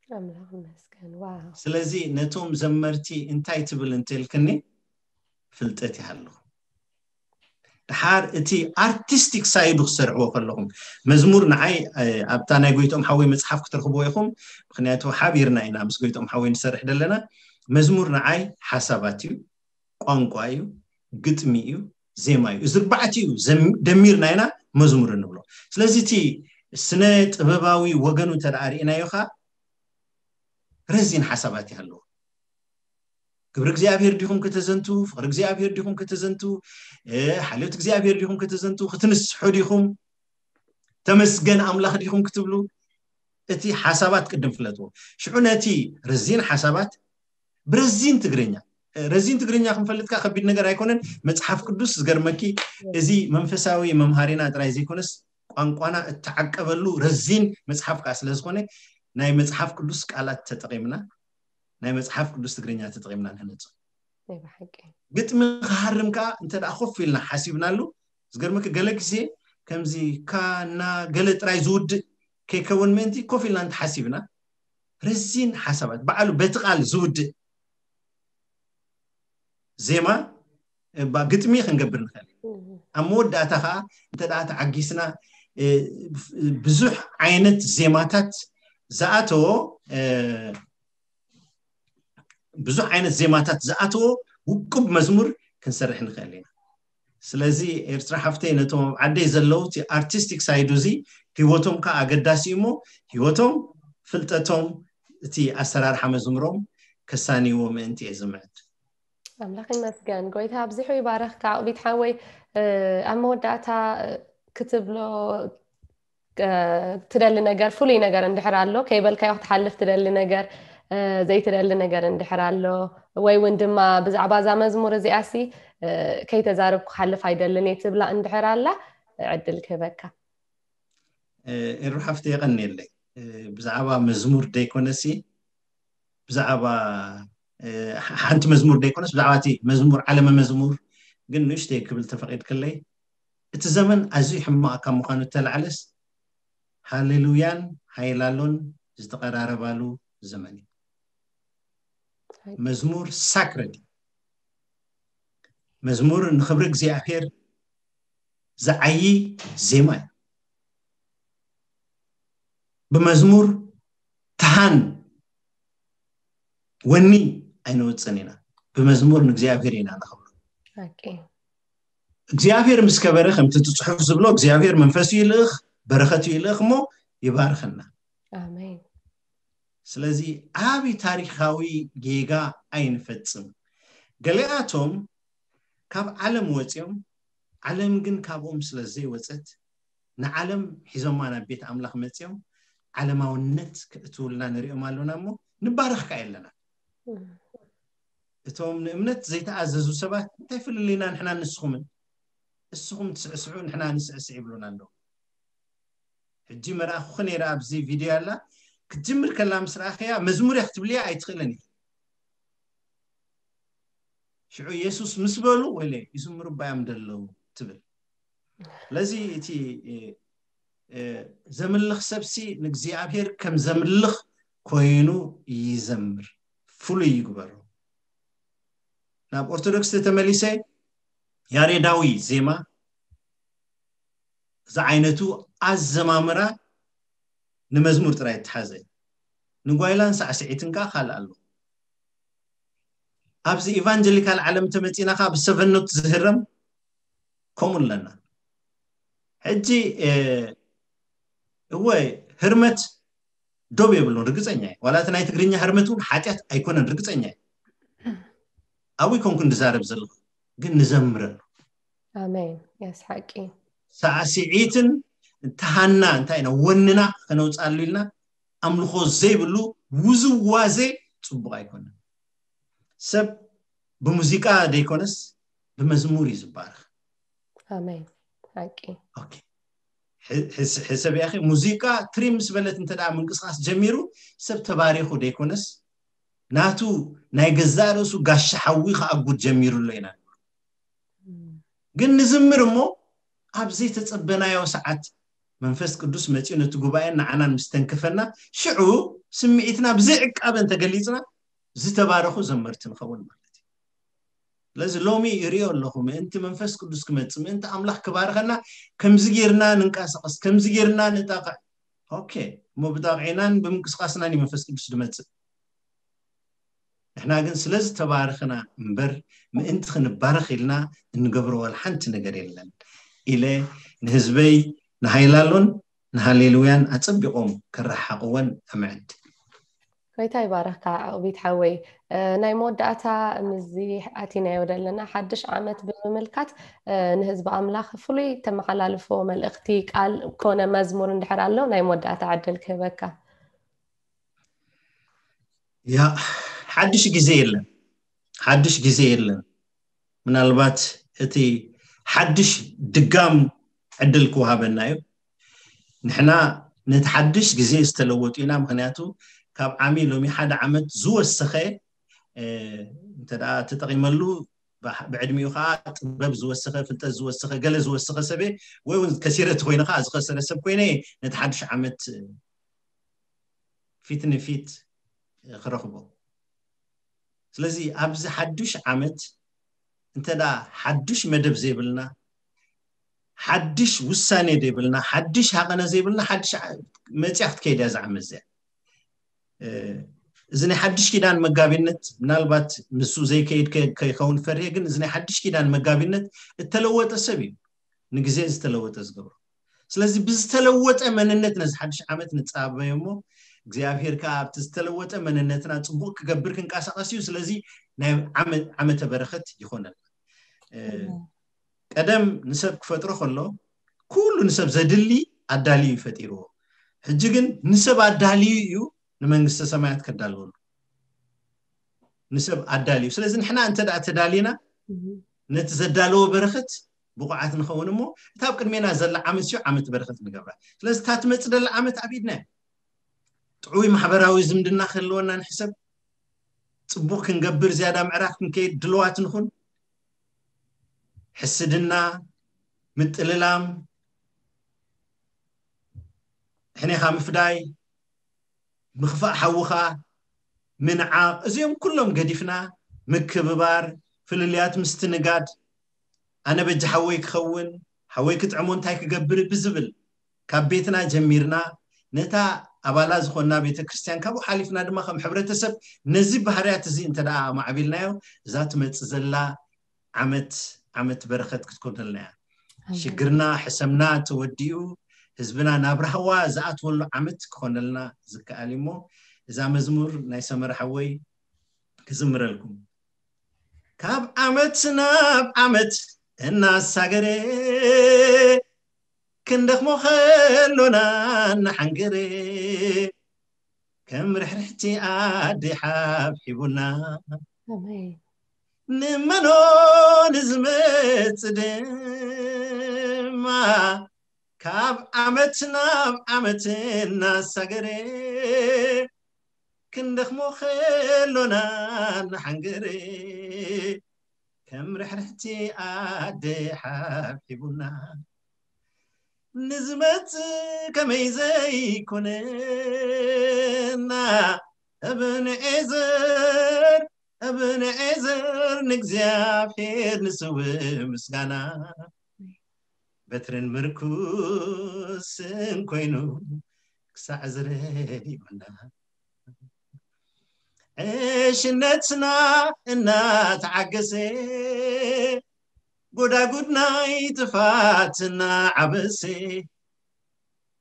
ኣምላኽ ይመስገን። ዋው። ስለዚ ነቶም ዘመርቲ እንታይ ትብል እንተልክኒ፣ ፍልጠት ይሃልኹ። ድሓር እቲ ኣርቲስቲክ ሳይዱ ክሰርሕዎ ከለኹም፣ መዝሙር ንዓይ እ፣ ኣብታ ናይ ጎይቶም ሓወይ መጽሓፍ ክትረኽብዎ ኢኹም። ምኽንያቱ ሓቢርና ኢና ምስ ጎይቶም ሓወይ ንሰርሕ ዘለና። መዝሙር ንዓይ ሓሳባት እዩ፣ ቋንቋ እዩ፣ ግጥሚ እዩ፣ ዜማ እዩ። እዚ ኣርባዕቲኡ ዘም- ደሚርና ኢና መዝሙር እንብሎ። ስለዚ እቲ ስነ ጥበባዊ ወገኑ እንተ ደኣ ርኢናዮ ኸኣ ረዚን ሓሳባት ይሃለዎ። ግብሪ እግዚኣብሔር ዲኹም ከተዘንቱ፣ ፍቕሪ እግዚኣብሔር ዲኹም ከተዘንቱ፣ እ፣ ሓልዮት እግዚኣብሔር ዲኹም ከተዘንቱ፣ ክትንስሑ ዲኹም፣ ተመስገን ኣምላኽ ዲኹም ክትብሉ፣ እቲ ሓሳባት ቅድም ፍለጥዎ። ሽዑ ነቲ ረዚን ሓሳባት ብረዚን ትግርኛ፣ እ፣ ረዚን ትግርኛ ክንፈልጥካ ከቢድ ነገር ኣይኮነን። መጽሓፍ ቅዱስ ዝገርመኪ፣ እዚ መንፈሳዊ መምሃሪና ጥራይ ዘይኮነስ ቋንቋና እተዓቀበሉ ረዚን መጽሓፍ ከኣ ስለ ዝኾነ ናይ መጽሓፍ ቅዱስ ቃላት ተጠቒምና፣ ናይ መጽሓፍ ቅዱስ ትግርኛ ተጠቒምና ንህነጾ። ናይ ብሓቂ። ግጥሚ ክሃርም ከኣ እንተ ደኣ ኮፍ ኢልና ሓሲብናሉ፣ ዝገርመኪ ገለ ግዜ ከምዚ ካ ና ገለ ጥራይ ዝውድእ ከይከውን ምእንቲ ኮፍ ኢልና እንተሓሲብና፣ ረዚን ሓሳባት ባዕሉ በቲ ቃል ዝውድእ ዜማ፣ እ፣ ባ-፣ ግጥሚ ክንገብር ንኽእል። እህ። ኣብ መወዳእታ ኸዓ እንተ ደኣ ተዓጊስና፣ እ፣ ብዙሕ ዓይነት ዜማታት ዝኣተዎ፣ እ፣ ብዙሕ ዓይነት ዜማታት ዝኣተዎ ውቁብ መዝሙር ክንሰርሕ ንኽእል ኢና። ስለዚ ኤርትራ ሓፍተይ፣ ነቶም ኣብ ዓደይ ዘለዉ እቲ ኣርቲስቲክ ሳይዱ እዚ ህይወቶም ከኣ ኣገዳሲ እዩ እሞ፣ ህይወቶም፣ ፍልጠቶም፣ እቲ ኣሰራርሓ መዝሙሮም ከሳንይዎ ምእንቲ እየ ዝምዕድ። ኣምላኽ ይመስገን። ጎይታ ኣብዚሑ ይባረኽካ። ኦቢት ሓወይ፣ እ፣ ኣብ መወዳእታ፣ እ፣ ክትብሎ፣ እ፣ ትደሊ ነገር፣ ፍሉይ ነገር እንድሕር ኣሎ፣ ከይበልካዮ ክትሓልፍ ትደሊ ነገር፣ እ፣ ዘይትደሊ ነገር እንድሕር ኣሎ፣ ወይ እውን ድማ ብዛዕባ እዛ መዝሙር እዚኣሲ፣ እ፣ ከይተዛረብኩ ክሓልፍ ኣይደልን እየ ትብላ እንድሕር ኣላ፣ ዕድል ክህበካ። እ፣ ኤሩ ሓፍቲ የቐንየለይ። እ፣ ብዛዕባ መዝሙር ደይኮነሲ፣ ብዛዕባ፣ እ፣ ሓ-፣ ሓንቲ መዝሙር ደይኮነስ፣ ብዛዕባ እቲ መዝሙር፣ ዓለመ መዝሙር ግን ንእሽተይ ክብል ተፈቒድክለይ፣ እቲ ዘመን ኣዝዩ ሕማቕ ካብ ምዃኑ እተላዕለስ፣ ሃሌሉያን ሃይላሎን ዝተቐራረባሉ ዘመን እዩ። መዝሙር ሳክረድ እዩ። መዝሙር ንኽብሪ እግዚኣብሔር ዝዓዪ ዜማ እዩ። ብመዝሙር ትሃን ወኒ ኣይነወፅን ኢና። ብመዝሙር ንእግዚኣብሔር ኢና ነኸብሮ። እግዚኣብሔር ምስ ከበረ፣ ከምቲ እቲ ፅሑፍ ዝብሎ፣ እግዚኣብሔር መንፈሱ ይልእኽ፣ በረኸቱ ይልእኽ እሞ ይባርኸና። ስለዚ ዓቢ ታሪኻዊ ጌጋ ኣይንፈጽም። ገሊኣቶም ካብ ዓለም ወፂኦም፣ ዓለም ግን ካብኦም ስለ ዘይወፀት፣ ንዓለም ሒዞማ ናብ ቤት ኣምላኽ መፂኦም ዓለማውነት ክእትውልና ንሪኦም ኣለና እሞ ንባረኽ ከኣ የለና። እቶም ንእምነት ዘይተኣዘዙ ሰባት እንታይ ፍልልይና ንሕና ንስኹምን? እስኹም ትስዕስዑ ንሕና ንስዕስዕ ይብሉና ኣለዉ። ሕጂ መርኣኹኺ ነይረ ኣብዚ ቪድዮ ኣላ ክትጅምር ከላ ምስ ረኣኽያ መዝሙር እያ ክትብልያ ኣይትኽእልን ኢኺ። ሽዑ የሱስ ምስ በሉ ወይለ ይዝምሩ ባዮም ደለዉ ትብል። ስለዚ እቲ ዘምልኽ ሰብሲ ንእግዚኣብሔር ከም ዘምልኽ ኮይኑ ይዘምር፣ ፍሉይ ይግበሮ። ናብ ኦርቶዶክስ ተመሊሰ ያሬዳዊ ዜማ ዝዓይነቱ ኣዘማምራ ንመዝሙር ጥራይ እተሓዘ፣ ንጓይላን ሳዕስዒትን ከዓ ካልእ ኣሎ። ኣብዚ ኢቫንጀሊካል ዓለም ተመፂና ከዓ ብሰቨኖት ዝህረም ከምኡ ኣለና። ሕጂ እወ ህርመት ዶብ የብሉን፣ ርግፀኛ እየ። ዋላ እቲ ናይ ትግርኛ ህርመት እውን ሓጢኣት ኣይኮነን፣ ርግፀኛ እየ። ኣብኡ ይኮንኩ ንዛረብ ዘለኹ፣ ግን ንዘምረሉ። ኣሜን። የስ ሓቂ። ሳዕስዒትን ተሃና እንታይ ኢና ወንና ከነውፅኣሉ ኢልና ኣምልኾ ዘይብሉ ውዝዋዜ ፅቡቕ ኣይኮነን። ሰብ ብሙዚቃ ዘይኮነስ ብመዝሙር እዩ ዝባረኽ። ኣሜን። ሓቂ። ሕሰብ ያኸ ሙዚቃ ትሪም ምስ በለት እንተ ደኣ ምንቅስቃስ ጀሚሩ ሰብ ተባሪኹ ዘይኮነስ ናቱ ናይ ገዛእ ርእሱ ጋሻ ሓዊ ከኣጉድ ጀሚሩ ኣሎ ኢና። ግን ንዝምር እሞ ኣብ ዘይተጸበናዮ ሰዓት መንፈስ ቅዱስ መጺኡ ነቲ ጉባኤን ንዓናን ምስ ተንከፈና ሽዑ ስምዒትና ብዘይ ዕቃበ እንተገሊጽና ዝተባረኹ ዘመርቲ ንኸውን ማለት እዩ። ስለዚ ሎሚ ይሪኦ ኣለኹ ምእንቲ መንፈስ ቅዱስ ክመጽእ ምእንቲ ኣምላኽ ክባርኸና ከምዚ ጌርና ንንቀሳቐስ ከምዚ ጌርና ንጣቕዕ። ኦኬ እሞ ብጣቕዒናን ብምንቅስቃስናን እዩ መንፈስ ቅዱስ ዝመጽእ። ንሕና ግን ስለ ዝተባረኽና እምበር ምእንቲ ክንባረኽ ኢልና እንገብሮ ዋላ ሓንቲ ነገር የለን ኢለ ንህዝበይ ንሃይላሎን ንሃሌሉያን ኣጸቢቖም ከረሓቕወን እምዕድ። ጎይታ ይባረኽካ ዕቕቢት ሓወይ። ናይ መወዳእታ ምዚ ኣቲናዮ ዘለና ሓድሽ ዓመት ብምምልካት ንህዝቢ ኣምላኽ ፍሉይ ተመሓላልፎ መልእኽቲ ቃል ኮነ መዝሙር እንድሕር ኣሎ ናይ መወዳእታ ዕድል ክህበካ። ያ ሓድሽ ግዜ የለን፣ ሓድሽ ግዜ የለን። ምናልባት እቲ ሓድሽ ድጋም ዕድል ክወሃበና እዩ። ንሕና ነቲ ሓድሽ ግዜ ዝተለወጡ ኢና። ምክንያቱ ካብ ዓሚ ሎሚ ሓደ ዓመት ዝወሰኸ እንተ ተጠቂመሉ ብዕድሚኡ ከዓ ጥበብ ዝወሰኸ ፍልጠት ዝወሰኸ ገለ ዝወሰኸ ሰበ ወይ እውን ከሲረ እቲ ኮይነ ከዓ ዝኸሰረ ሰብ ኮይነ ነቲ ሓድሽ ዓመት ፊት ንፊት ክረኽቦ። ስለዚ ኣብዚ ሓዱሽ ዓመት እንተ ሓዱሽ መደብ ዘይብልና ሓድሽ ውሳኔ ዘይብልና ሓድሽ ሃቐነ ዘይብልና ሓድሽ መፅያ ክትከይድ እያ ዝዓመት እዚኣ። እዚ ናይ ሓድሽ ኪዳን መጋቢነት ምናልባት ንሱ ዘይከይድ ከይኸውን ፈርሄ ግን እዚ ናይ ሓድሽ ኪዳን መጋቢነት እተለወጠ ሰብ እዩ ንግዜ ዝተለወጠ ዝገብሮ። ስለዚ ብዝተለወጠ መንነት ነዚ ሓድሽ ዓመት ንፃበዮ እሞ እግዚኣብሔር ከዓ ኣብቲ ዝተለወጠ መንነትና ፅቡቅ ክገብር ክንቀሳቀስ እዩ። ስለዚ ናይ ዓመተ በረኸት ይኾነልና። ቀደም ንሰብ ክፈጥሮ ከሎ ኩሉ ንሰብ ዘድሊ ኣዳልዩ እዩ ፈጢርዎ። ሕጂ ግን ንሰብ ኣዳልዩ እዩ ንመንግስተ ሰማያት ከዳልወሉ። ንሰብ ኣዳልዩ። ስለዚ ንሕና እንተ ደኣ ተዳሊና ነቲ ዘዳለዎ በረኸት ብቑዓት ንኸውን እሞ እታ ኣብ ቅድሜና ዘላ ዓመት ሲዮ ዓመት በረኸት ንገብራ። ስለዚ እታ ትመጽእ ዘላ ዓመት ኣብ ኢድና እያ። ጥዑይ ማሕበራዊ ዝምድና ክህልወና ንሕሰብ። ጽቡቕ ክንገብር ዝያዳ ምዕራፍ ክንከይድ ድልዋት ንኹን። ሕስድና፣ ምጥልላም፣ ሕኔኻ ምፍዳይ፣ ምኽፋእ ሓውኻ፣ ምንዓቕ፣ እዚኦም ኩሎም ገዲፍና ምክብባር፣ ፍልልያት ምስትንጋድ፣ ኣነ በጃ ሓወይ ክኸውን፣ ሓወይ ክጥዕሞ እንታይ ክገብር ብዝብል ካብ ቤትና ጀሚርና ነታ ኣባላ ዝኾንና ቤተክርስትያን፣ ካብኡ ሓሊፍና ድማ ከም ሕብረተሰብ ነዚ ባህርያት እዚ እንተ ደኣ ኣማዕቢልናዮ፣ እዛ ትመጽእ ዘላ ዓመት፣ ዓመት በረኸት ክትኮነልና እያ። ኣሜን። ሽግርና፣ ሕሰምና ተወዲኡ፣ ህዝብና ናብ ራህዋ ዝኣትወሉ ዓመት ክኾነልና ዝከኣል እዩ። እሞ እዛ መዝሙር ናይ ሰመረ ሓወይ ክዝምረልኩም። ካብ ዓመት ናብ ዓመት እናሳገረ፣ ክንደኽሞ ከሎና እናሓንገረ፣ ከም ርሕርሕቲ ኣደ ሓብሒቡና፣ ኣሜን። ንመኖ ንዝመጽእ ድማ፣ ካብ ዓመት ናብ ዓመት እናሳገረ፣ ክንደኽሞ ከሎና እናሓንገረ፣ ከም ርሕርሕቲ ኣደ ሓብሒቡና፣ ንዝመጽእ ከመይ ዘይኮነና፣ እብንኤዘር፣ እብንኤዘር፣ ንእግዚኣብሔር ንስውእ ምስጋና፣ በትርን ምርኩስን ኮይኑ ክሳዕ ዝረድኡና፣ ዕሽነትና እናተዓገሰ፣ ጎዳጉድ ናይ ጥፋትና ዓበሰ፣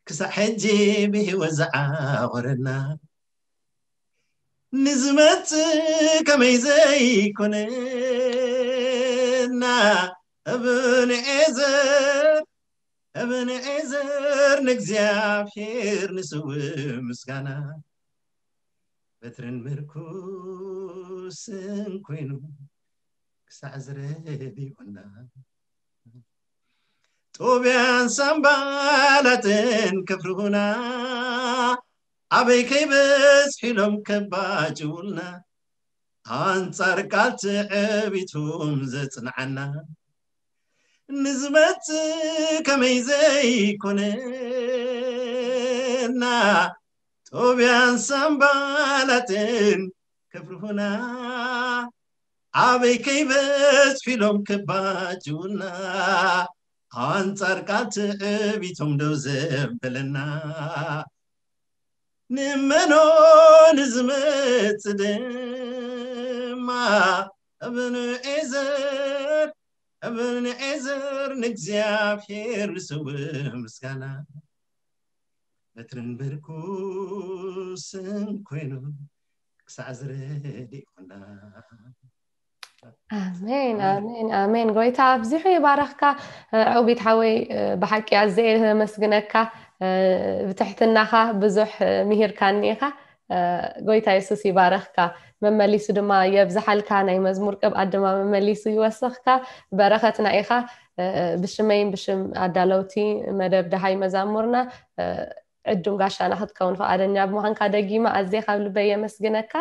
ክሳዕ ሕጂ ብህይወት ዝዓወረና፣ ንዝመጽእ ከመይ ዘይኮነና፣ እብንኤዘር፣ እብንኤዘር፣ ንእግዚኣብሔር ንስውእ ምስጋና፣ በትርን ምርኩስን ኮይኑ ክሳዕ ዝረድኡና፣ ጦብያን ሳምባላትን ከፍርሁና፣ ኣበይ ከይበጽሑ ኢሎም ከባጭውልና፣ ኣንጻር ቃል ትዕቢቶም ዘጽንዓና፣ ንዝመጽእ ከመይ ዘይኮነና፣ ጦብያን ሳምባላትን ከፍርሁና፣ ኣበይ ከይበጽሑ ኢሎም ከባጭውልና፣ ኣንጻር ቃል ትዕቢቶም ደው ዘበለና፣ ንመኖ ንዝመጽእ ድማ፣ እብንኤዘር፣ እብንኤዘር፣ ንእግዚኣብሔር ንስውእ ምስጋና፣ በትርን ምርኩስን ኮይኑ ክሳዕ ዝረድኡና። ኣሜን፣ ኣሜን፣ ኣሜን። ጎይታ ኣብዚሑ ይባረኽካ። እ፣ ዕውቢት ሓወይ፣ እ፣ ብሓቂ ኣዝየ የመስግነካ። እ፣ ብትሕትናኻ ብዙሕ፣ እ፣ ምሂርካኒ ኢኻ። እ፣ ጎይታ የሱስ ይባረኽካ። መመሊሱ ድማ የብዝሓልካ። ናይ መዝሙር ቅብኣት ድማ መመሊሱ ይወስኽካ። በረኸትና ኢኻ። እ፣ ብሽመይን ብሽም ኣዳለውቲ መደብ ደሃይ መዛሙርና፣ እ፣ ዕዱም ጋሻና ክትከውን ፍቓደኛ ብምዃንካ ደጊመ ኣዝየ ካብ ልበይ የመስግነካ።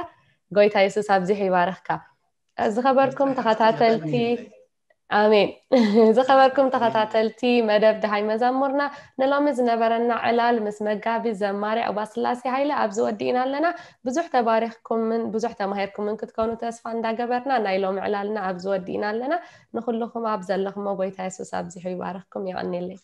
ጎይታ የሱስ ኣብዚሑ ይባረኽካ። ዝኸበርኩም ተኸታተልቲ፣ ኣሜን። ዝኸበርኩም ተኸታተልቲ መደብ ደሃይ መዛሙርና፣ ንሎሚ ዝነበረና ዕላል ምስ መጋቢ ዘማሪ ዕውባ ስላሴ ሃይለ ኣብዚ ወዲእና ኣለና። ብዙሕ ተባሪኽኩምን ብዙሕ ተማሂርኩምን ክትኮኑ ተስፋ እንዳገበርና፣ ናይ ሎሚ ዕላልና ኣብዚ ወዲእና ኣለና። ንኹልኹም ኣብ ዘለኹሞ ጎይታ የሱስ ኣብዚሑ ይባርኽኩም። የቐንየለይ።